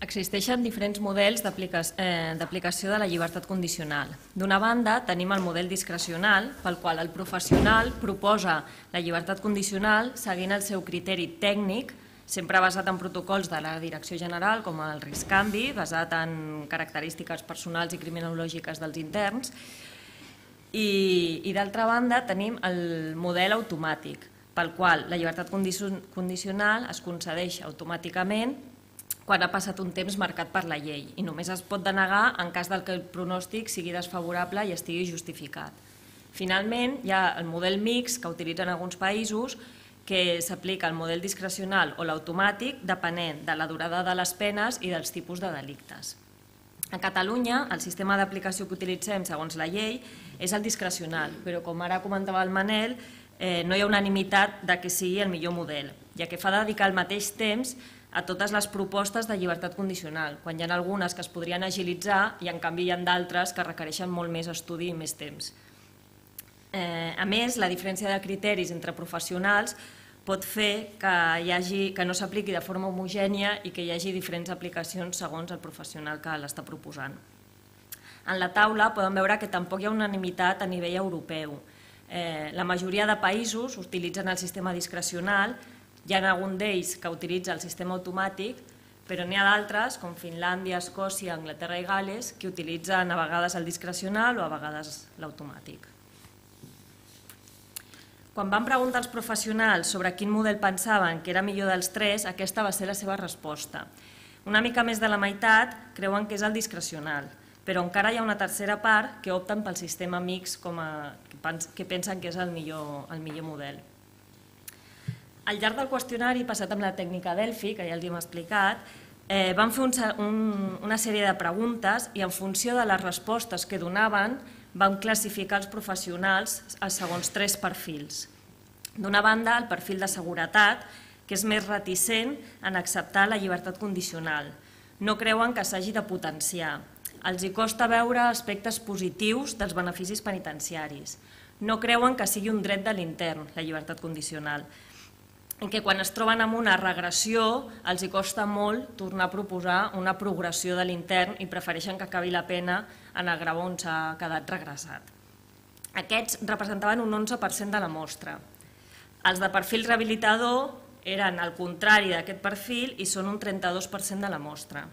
Existeixen diferents models d'aplicació de la llibertat condicional. D'una banda, tenim el model discrecional, pel qual el professional proposa la llibertat condicional seguint el seu criteri tècnic, sempre basat en protocols de la Direcció General, com el risc-canvi, basat en característiques personals i criminològiques dels interns. I d'altra banda tenim el model automàtic, pel qual la llibertat condicional es concedeix automàticament quan ha passat un temps marcat per la llei i només es pot denegar en cas que el pronòstic sigui desfavorable i estigui justificat. Finalment, hi ha el model mixt que utilitzen alguns països, que s'aplica el model discrecional o l'automàtic depenent de la durada de les penes i dels tipus de delictes. A Catalunya, el sistema d'aplicació que utilitzem segons la llei és el discrecional, però com ara comentava el Manel, no hi ha unanimitat que sigui el millor model, ja que fa dedicar el mateix temps a totes les propostes de llibertat condicional, quan hi ha algunes que es podrien agilitzar i en canvi hi ha d'altres que requereixen molt més estudi i més temps. A més, la diferència de criteris entre professionals pot fer que no s'apliqui de forma homogènia i que hi hagi diferents aplicacions segons el professional que l'està proposant. En la taula podem veure que tampoc hi ha unanimitat a nivell europeu. La majoria de països utilitzen el sistema discrecional, hi ha algun d'ells que utilitza el sistema automàtic, però n'hi ha d'altres, com Finlàndia, Escòcia, Anglaterra i Gal·les, que utilitzen a vegades el discrecional o a vegades l'automàtic. Quan van preguntar als professionals sobre quin model pensaven que era millor dels tres, aquesta va ser la seva resposta. Una mica més de la meitat creuen que és el discrecional, però encara hi ha una tercera part que opten pel sistema mixt que pensen que és el millor model. Al llarg del qüestionari, passat amb la tècnica Delphi, que ja els hem explicat, van fer una sèrie de preguntes i en funció de les respostes que donaven vam classificar els professionals segons tres perfils. D'una banda, el perfil de seguretat, que és més reticent en acceptar la llibertat condicional. No creuen que s'hagi de potenciar. Els hi costa veure aspectes positius dels beneficis penitenciaris. No creuen que sigui un dret de l'intern, la llibertat condicional. I que quan es troben amb una regressió els hi costa molt tornar a proposar una progressió de l'intern i prefereixen que acabi la pena en el grau on s'ha quedat regressat. Aquests representaven un 11% de la mostra. Els de perfil rehabilitador eren al contrari d'aquest perfil i són un 32% de la mostra.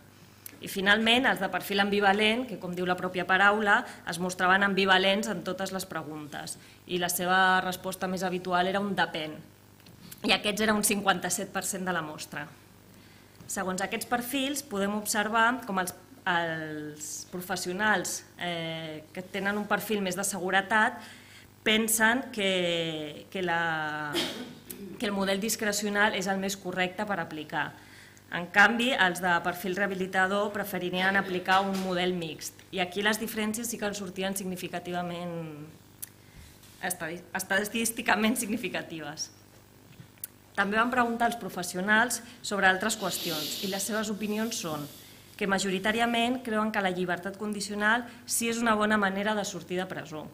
I finalment, els de perfil ambivalent, que com diu la pròpia paraula, es mostraven ambivalents en totes les preguntes i la seva resposta més habitual era un depèn. I aquests era un 57% de la mostra. Segons aquests perfils podem observar com els professionals que tenen un perfil més de seguretat pensen que el model discrecional és el més correcte per aplicar. En canvi, els de perfil rehabilitador preferirien aplicar un model mixt. I aquí les diferències sí que en sortien significativament estadísticament significatives. També van preguntar als professionals sobre altres qüestions i les seves opinions són que majoritàriament creuen que la llibertat condicional sí és una bona manera de sortir de presó.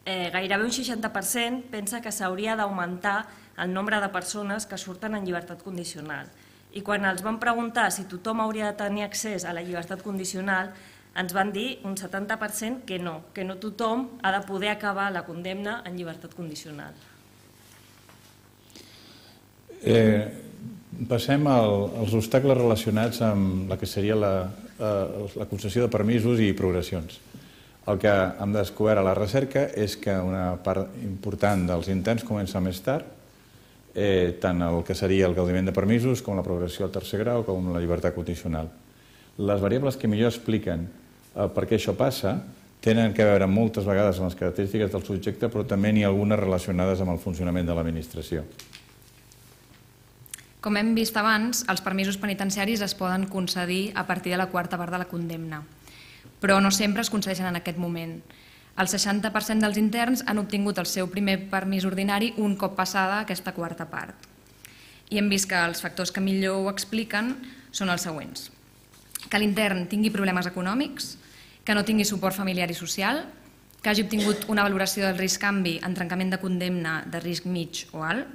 Gairebé un 60% pensa que s'hauria d'augmentar el nombre de persones que surten en llibertat condicional. I quan els van preguntar si tothom hauria de tenir accés a la llibertat condicional, ens van dir un 70% que no tothom ha de poder acabar la condemna en llibertat condicional. Passem als obstacles relacionats amb la que seria la concessió de permisos i progressions. El que hem descobert a la recerca és que una part important dels interns comença més tard, tant el que seria el gaudiment de permisos com la progressió al tercer grau com la llibertat condicional. Les variables que millor expliquen per què això passa tenen a veure moltes vegades amb les característiques del subjecte, però també n'hi ha algunes relacionades amb el funcionament de l'administració. Com hem vist abans, els permisos penitenciaris es poden concedir a partir de la quarta part de la condemna, però no sempre es concedeixen en aquest moment. El 60% dels interns han obtingut el seu primer permís ordinari un cop passada aquesta quarta part. I hem vist que els factors que millor ho expliquen són els següents. Que l'intern tingui problemes econòmics, que no tingui suport familiar i social, que hagi obtingut una valoració del risc-canvi en trencament de condemna de risc mig o alt,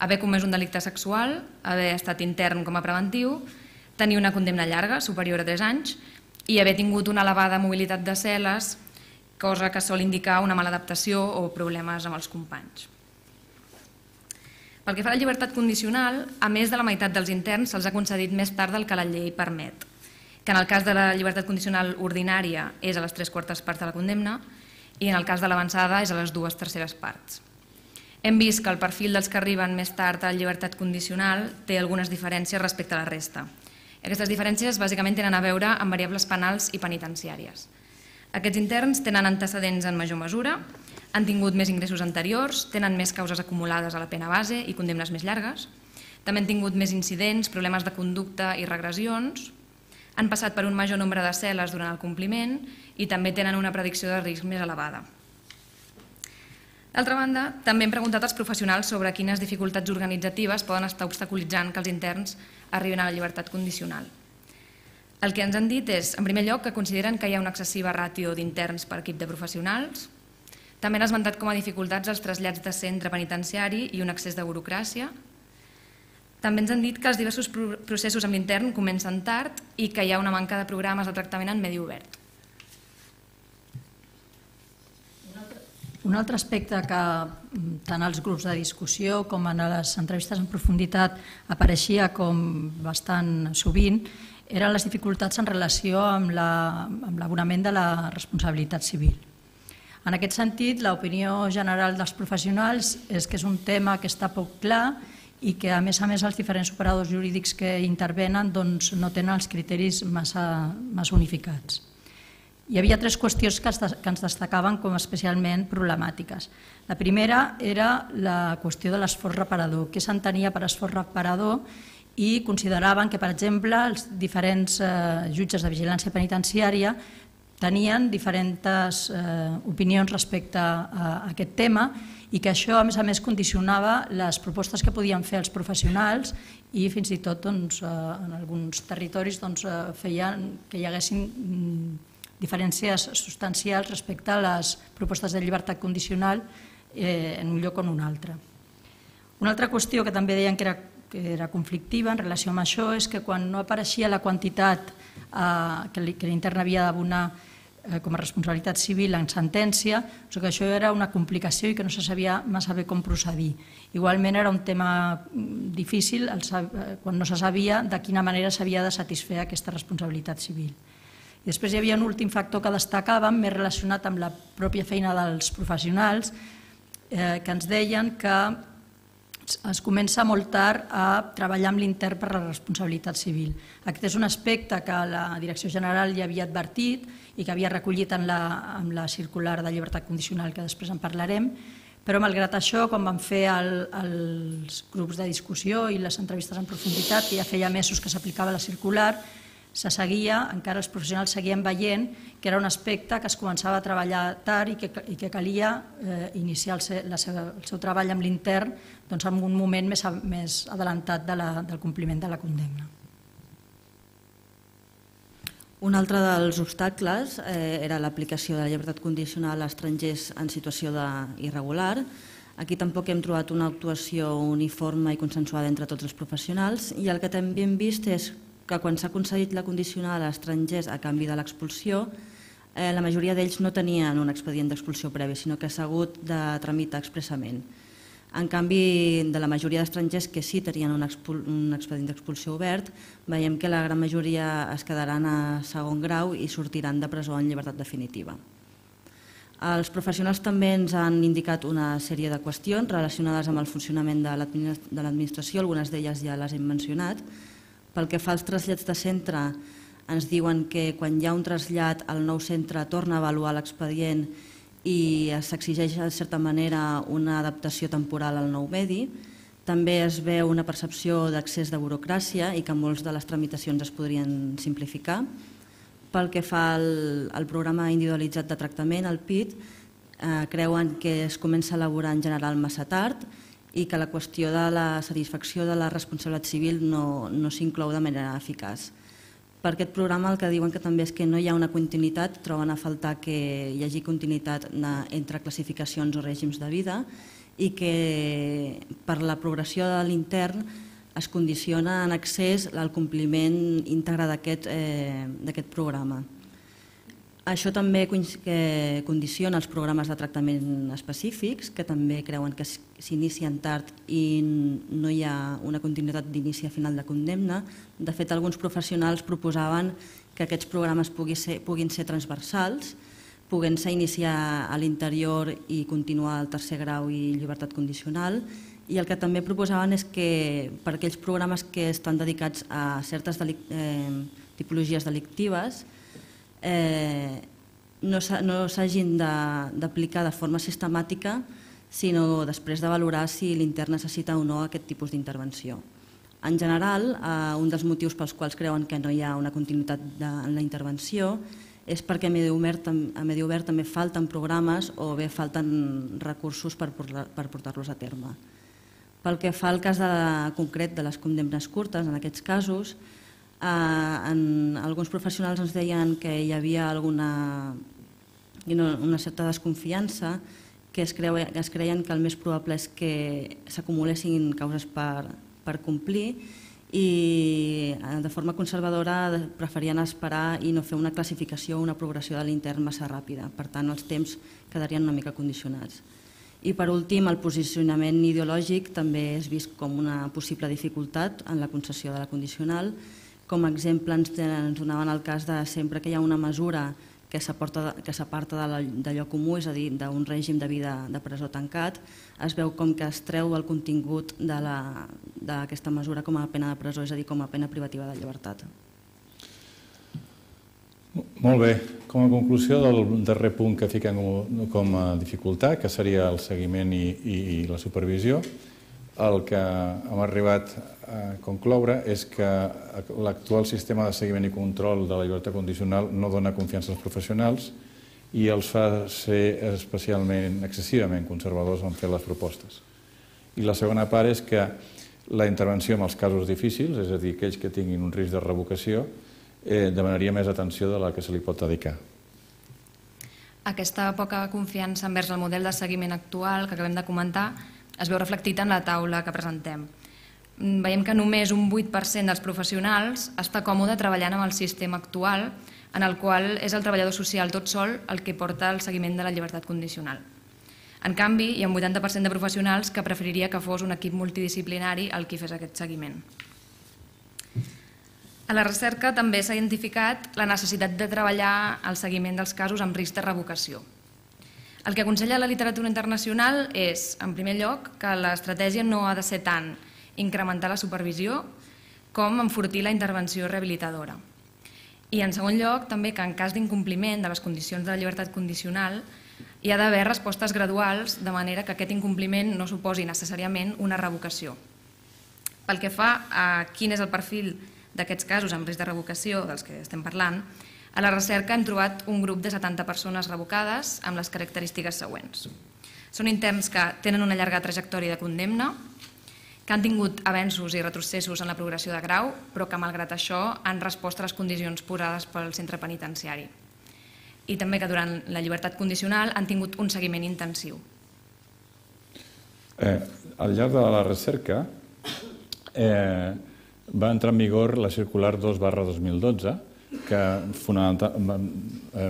haver comès un delicte sexual, haver estat intern com a preventiu, tenir una condemna llarga, superior a 3 anys, i haver tingut una elevada mobilitat de cel·les, cosa que sol indicar una mala adaptació o problemes amb els companys. Pel que fa a la llibertat condicional, a més de la meitat dels interns se'ls ha concedit més tard del que la llei permet, que en el cas de la llibertat condicional ordinària és a les 3/4 parts de la condemna i en el cas de l'avançada és a les 2/3 parts. Hem vist que el perfil dels que arriben més tard a la llibertat condicional té algunes diferències respecte a la resta. Aquestes diferències bàsicament tenen a veure amb variables penals i penitenciàries. Aquests interns tenen antecedents en major mesura, han tingut més ingressos anteriors, tenen més causes acumulades a la pena base i condemnes més llargues, també han tingut més incidents, problemes de conducta i regressions, han passat per un major nombre de cel·les durant el compliment i també tenen una predicció de risc més elevada. D'altra banda, també hem preguntat als professionals sobre quines dificultats organitzatives poden estar obstaculitzant que els interns arribin a la llibertat condicional. El que ens han dit és, en primer lloc, que consideren que hi ha una excessiva ràtio d'interns per equip de professionals. També han esmentat com a dificultats els trasllats de centre penitenciari i un excés de burocràcia. També ens han dit que els diversos processos amb l'intern comencen tard i que hi ha una manca de programes de tractament en medi obert. Un altre aspecte que tant als grups de discussió com en les entrevistes en profunditat apareixia com bastant sovint eren les dificultats en relació amb l'abonament de la responsabilitat civil. En aquest sentit, l'opinió general dels professionals és que és un tema que està poc clar i que, a més, els diferents operadors jurídics que intervenen no tenen els criteris massa unificats. Hi havia 3 qüestions que ens destacaven com especialment problemàtiques. La primera era la qüestió de l'esforç reparador. Què s'entenia per esforç reparador? I consideraven que, per exemple, els diferents jutges de vigilància penitenciària tenien diferents opinions respecte a aquest tema i que això, a més, condicionava les propostes que podien fer els professionals i fins i tot en alguns territoris feien que hi haguessin diferències substancials respecte a les propostes de llibertat condicional en un lloc o en un altre. Una altra qüestió que també deien que era conflictiva en relació amb això és que quan no apareixia la quantitat que l'intern havia d'abonar com a responsabilitat civil en sentència, que això era una complicació i que no se sabia massa bé com procedir. Igualment era un tema difícil quan no se sabia de quina manera s'havia de satisfer aquesta responsabilitat civil. I després hi havia un últim factor que destacàvem, més relacionat amb la pròpia feina dels professionals, que ens deien que es comença molt tard a treballar amb l'intern per la responsabilitat civil. Aquest és un aspecte que la Direcció General ja havia advertit i que havia recollit en la circular de llibertat condicional, que després en parlarem, però malgrat això, quan vam fer els grups de discussió i les entrevistes en profunditat, que ja feia mesos que s'aplicava la circular, se seguia, encara els professionals seguien veient que era un aspecte que es començava a treballar tard i que calia iniciar el seu treball amb l'intern en un moment més adelantat del compliment de la condemna. Un altre dels obstacles era l'aplicació de la llibertat condicional a estrangers en situació d'irregular. Aquí tampoc hem trobat una actuació uniforme i consensuada entre tots els professionals i el que també hem vist és que quan s'ha concedit la condicional a estrangers a canvi de l'expulsió, la majoria d'ells no tenien un expedient d'expulsió previ, sinó que s'ha hagut de tramitar expressament. En canvi, de la majoria d'estrangers que sí tenien un expedient d'expulsió obert, veiem que la gran majoria es quedaran a segon grau i sortiran de presó en llibertat definitiva. Els professionals també ens han indicat una sèrie de qüestions relacionades amb el funcionament de l'administració, algunes d'elles ja les hem mencionat. Pel que fa als trasllats de centre, ens diuen que quan hi ha un trasllat el nou centre torna a avaluar l'expedient i s'exigeix de certa manera una adaptació temporal al nou medi. També es veu una percepció d'accés de burocràcia i que moltes de les tramitacions es podrien simplificar. Pel que fa al programa individualitzat de tractament, el PIT, creuen que es comença a elaborar en general massa tard i que la qüestió de la satisfacció de la responsabilitat civil no s'inclou de manera eficaç. Per aquest programa el que diuen que també és que no hi ha una continuïtat, troben a faltar que hi hagi continuïtat entre classificacions o règims de vida i que per la progressió de l'intern es condiciona en accés al compliment íntegre d'aquest programa. Això també condiciona els programes de tractament específics, que també creuen que s'inicien tard i no hi ha una continuïtat d'inici a final de condemna. De fet, alguns professionals proposaven que aquests programes puguin ser transversals, podent-se iniciar a l'interior i continuar al tercer grau i llibertat condicional. I el que també proposaven és que per aquells programes que estan dedicats a certes tipologies delictives no s'hagin d'aplicar de forma sistemàtica, sinó després de valorar si l'intern necessita o no aquest tipus d'intervenció. En general, un dels motius pels quals creuen que no hi ha una continuïtat en la intervenció és perquè a Medi Obert també falten programes o bé falten recursos per portar-los a terme. Pel que fa al cas concret de les condemnes curtes, en aquests casos, alguns professionals ens deien que hi havia una certa desconfiança, que es creien que el més probable és que s'acumulessin causes per complir i de forma conservadora preferien esperar i no fer una classificació o una progressió de l'intern massa ràpida. Per tant, els temps quedarien una mica condicionats. I per últim, el posicionament ideològic també és vist com una possible dificultat en la concessió de la condicional. Com a exemple ens donaven el cas de sempre que hi ha una mesura que s'aparta d'allò comú, és a dir, d'un règim de vida de presó tancat, es veu com que es treu el contingut d'aquesta mesura com a pena de presó, és a dir, com a pena privativa de llibertat. Molt bé. Com a conclusió del darrer punt que fiquem com a dificultat, que seria el seguiment i la supervisió, el que hem arribat a concloure és que l'actual sistema de seguiment i control de la llibertat condicional no dona confiança als professionals i els fa ser especialment, excessivament conservadors en fer les propostes. I la segona part és que la intervenció en els casos difícils, és a dir, aquells que tinguin un risc de revocació, demanaria més atenció de la que se li pot dedicar. Aquesta poca confiança envers el model de seguiment actual que acabem de comentar es veu reflectit en la taula que presentem. Veiem que només un 8% dels professionals està còmode treballant amb el sistema actual, en el qual és el treballador social tot sol el que porta el seguiment de la llibertat condicional. En canvi, hi ha un 80% de professionals que preferiria que fos un equip multidisciplinari el qui fes aquest seguiment. A la recerca també s'ha identificat la necessitat de treballar el seguiment dels casos amb risc de revocació. El que aconsella la literatura internacional és, en primer lloc, que l'estratègia no ha de ser tant incrementar la supervisió com enfortir la intervenció rehabilitadora. I, en segon lloc, també que en cas d'incompliment de les condicions de la llibertat condicional hi ha d'haver respostes graduals de manera que aquest incompliment no suposi necessàriament una revocació. Pel que fa a quin és el perfil d'aquests casos amb risc de revocació, dels que estem parlant, a la recerca hem trobat un grup de 70 persones revocades amb les característiques següents. Són interns que tenen una llarga trajectòria de condemna, que han tingut avenços i retrocessos en la progressió de grau, però que, malgrat això, han respost a les condicions posades pel centre penitenciari. I també que durant la llibertat condicional han tingut un seguiment intensiu. Al llarg de la recerca va entrar en vigor la circular 2/2012,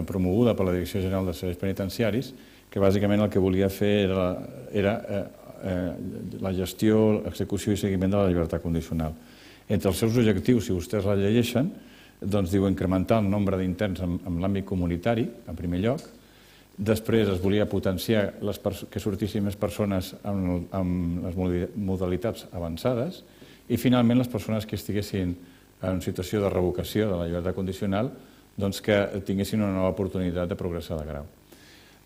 promoguda per la Direcció General de Serveis Penitenciaris, que bàsicament el que volia fer era la gestió, execució i seguiment de la llibertat condicional. Entre els seus objectius, si vostès la llegeixen, doncs diu incrementar el nombre d'interns en l'àmbit comunitari, en primer lloc. Després es volia potenciar que sortissin més persones amb les modalitats avançades i finalment les persones que estiguessin en situació de revocació de la llibertat condicional doncs que tinguessin una nova oportunitat de progressar de grau.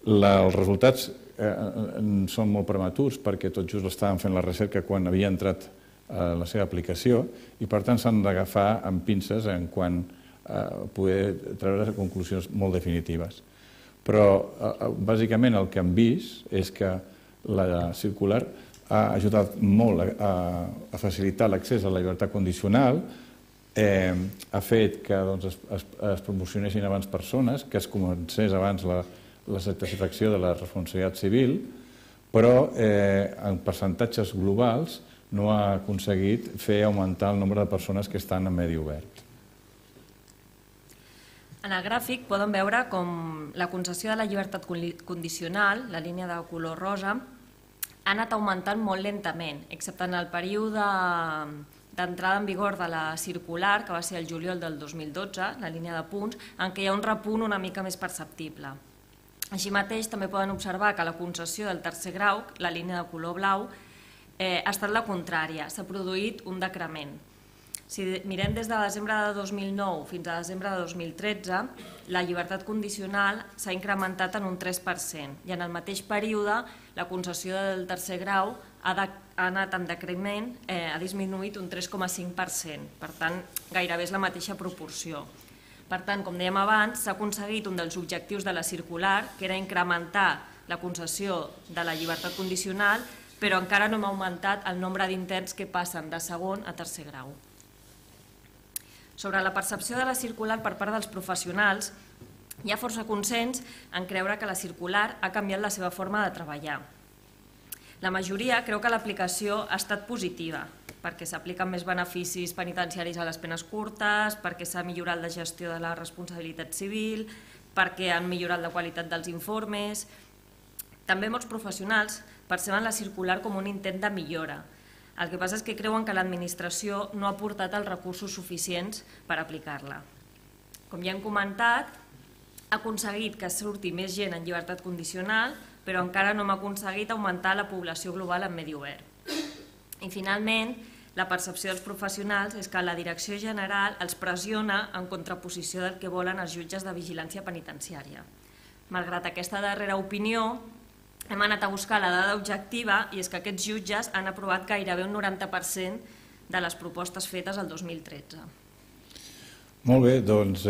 Els resultats són molt prematurs perquè tot just estaven fent la recerca quan havia entrat la seva aplicació i per tant s'han d'agafar amb pinces en quant a poder treure conclusions molt definitives. Però bàsicament el que hem vist és que la circular ha ajudat molt a facilitar l'accés a la llibertat condicional, ha fet que es promocionessin abans persones, que es comencés abans la satisfacció de la responsabilitat civil, però en percentatges globals no ha aconseguit fer augmentar el nombre de persones que estan en medi obert. En el gràfic poden veure com la concessió de la llibertat condicional, la línia de color rosa, ha anat augmentant molt lentament, excepte en el període d'entrada en vigor de la circular, que va ser el juliol del 2012, la línia de punts, en què hi ha un repunt una mica més perceptible. Així mateix, també poden observar que la concessió del tercer grau, la línia de color blau, ha estat la contrària, s'ha produït un decrement. Si mirem des de desembre de 2009 fins a desembre de 2013, la llibertat condicional s'ha incrementat en un 3% i en el mateix període la concessió del tercer grau ha anat en decrement, ha disminuït un 3,5%, per tant gairebé és la mateixa proporció. Per tant, com dèiem abans, s'ha aconseguit un dels objectius de la circular, que era incrementar la concessió de la llibertat condicional, però encara no hem augmentat el nombre d'interns que passen de segon a tercer grau. Sobre la percepció de la circular per part dels professionals, hi ha força consens en creure que la circular ha canviat la seva forma de treballar. La majoria creu que l'aplicació ha estat positiva, perquè s'apliquen més beneficis penitenciaris a les penes curtes, perquè s'ha millorat la gestió de la responsabilitat civil, perquè han millorat la qualitat dels informes. També molts professionals perceben la circular com un intent de millora. El que passa és que creuen que l'administració no ha aportat els recursos suficients per aplicar-la. Com ja hem comentat, ha aconseguit que surti més gent en llibertat condicional, però encara no hem aconseguit augmentar la població global en medi obert. I finalment, la percepció dels professionals és que la Direcció General els pressiona en contraposició del que volen els jutges de vigilància penitenciària. Malgrat aquesta darrera opinió, hem anat a buscar la dada objectiva i és que aquests jutges han aprovat gairebé un 90% de les propostes fetes el 2013. Molt bé, doncs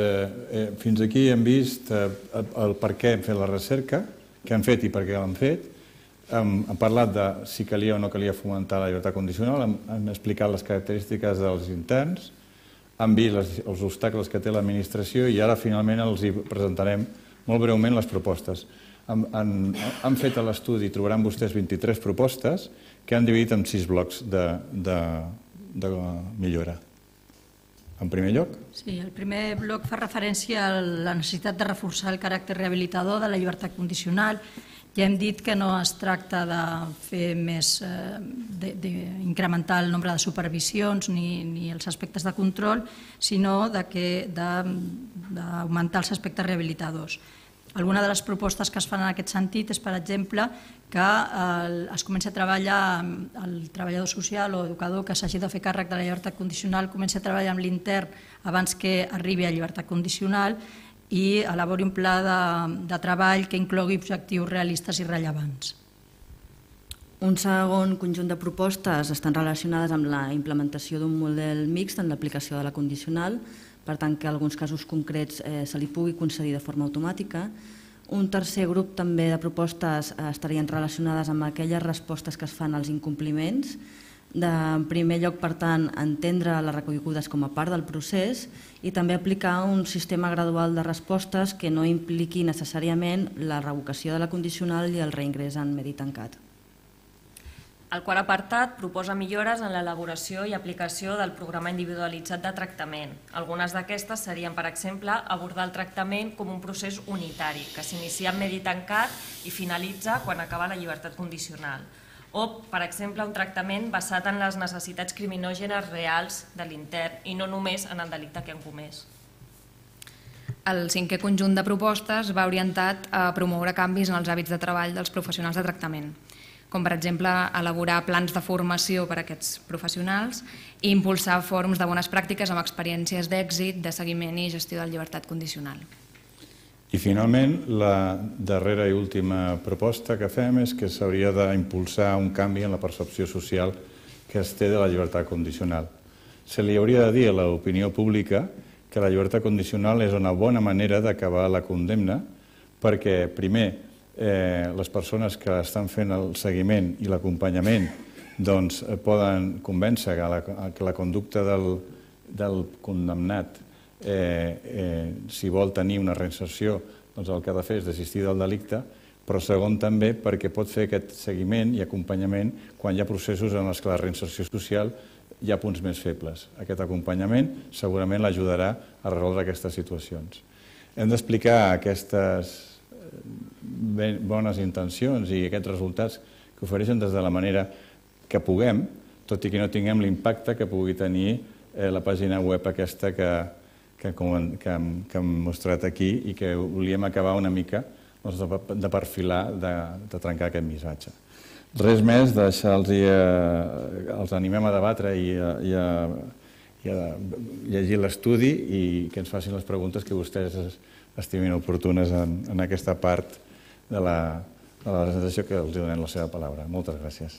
fins aquí hem vist el per què hem fet la recerca, què hem fet i per què l'hem fet. Hem parlat de si calia o no calia fomentar la llibertat condicional, hem explicat les característiques dels interns, hem vist els obstacles que té l'administració i ara finalment els presentarem molt breument les propostes. Han fet a l'estudi, trobaran vostès 23 propostes que han dividit en 6 blocs de millora. En primer lloc? Sí, el primer bloc fa referència a la necessitat de reforçar el caràcter rehabilitador de la llibertat condicional. Ja hem dit que no es tracta de fer més, d'incrementar el nombre de supervisions ni els aspectes de control, sinó d'augmentar els aspectes rehabilitadors. Alguna de les propostes que es fan en aquest sentit és, per exemple, que es comenci a treballar el treballador social o educador que s'hagi de fer càrrec de la llibertat condicional, comenci a treballar amb l'intern abans que arribi a llibertat condicional i elabori un pla de treball que inclogui objectius realistes i rellevants. Un segon conjunt de propostes estan relacionades amb la implementació d'un model mixt en l'aplicació de la condicional, per tant que en alguns casos concrets se li pugui concedir de forma automàtica. Un tercer grup també de propostes estarien relacionades amb aquelles respostes que es fan als incompliments. En primer lloc, per tant, entendre les reconegudes com a part del procés i també aplicar un sistema gradual de respostes que no impliqui necessàriament la revocació de la condicional i el reingrés en medi tancat. El quart apartat proposa millores en l'elaboració i aplicació del programa individualitzat de tractament. Algunes d'aquestes serien, per exemple, abordar el tractament com un procés unitari, que s'inicia en medi tancat i finalitza quan acaba la llibertat condicional. O, per exemple, un tractament basat en les necessitats criminògenes reals de l'intern i no només en el delicte que han comès. El cinquè conjunt de propostes va orientat a promoure canvis en els hàbits de treball dels professionals de tractament, com per exemple elaborar plans de formació per a aquests professionals i impulsar fòrums de bones pràctiques amb experiències d'èxit, de seguiment i gestió de llibertat condicional. I finalment, la darrera i última proposta que fem és que s'hauria d'impulsar un canvi en la percepció social que es té de la llibertat condicional. Se li hauria de dir a l'opinió pública que la llibertat condicional és una bona manera d'acabar la condemna perquè, primer, les persones que estan fent el seguiment i l'acompanyament poden convèncer que la conducta del condemnat, si vol tenir una reinserció, el que ha de fer és desistir del delicte, però segon també perquè pot fer aquest seguiment i acompanyament quan hi ha processos en els que la reinserció social hi ha punts més febles. Aquest acompanyament segurament l'ajudarà a resoldre aquestes situacions. Hem d'explicar aquestes bones intencions i aquests resultats que ofereixen des de la manera que puguem, tot i que no tinguem l'impacte que pugui tenir la pàgina web aquesta que hem mostrat aquí i que volíem acabar una mica de perfilar, de trencar aquest missatge. Res més, els animem a debatre i a llegir l'estudi i que ens facin les preguntes que vostès estimin oportunes en aquesta part de la presentació que els donem la seva paraula. Moltes gràcies.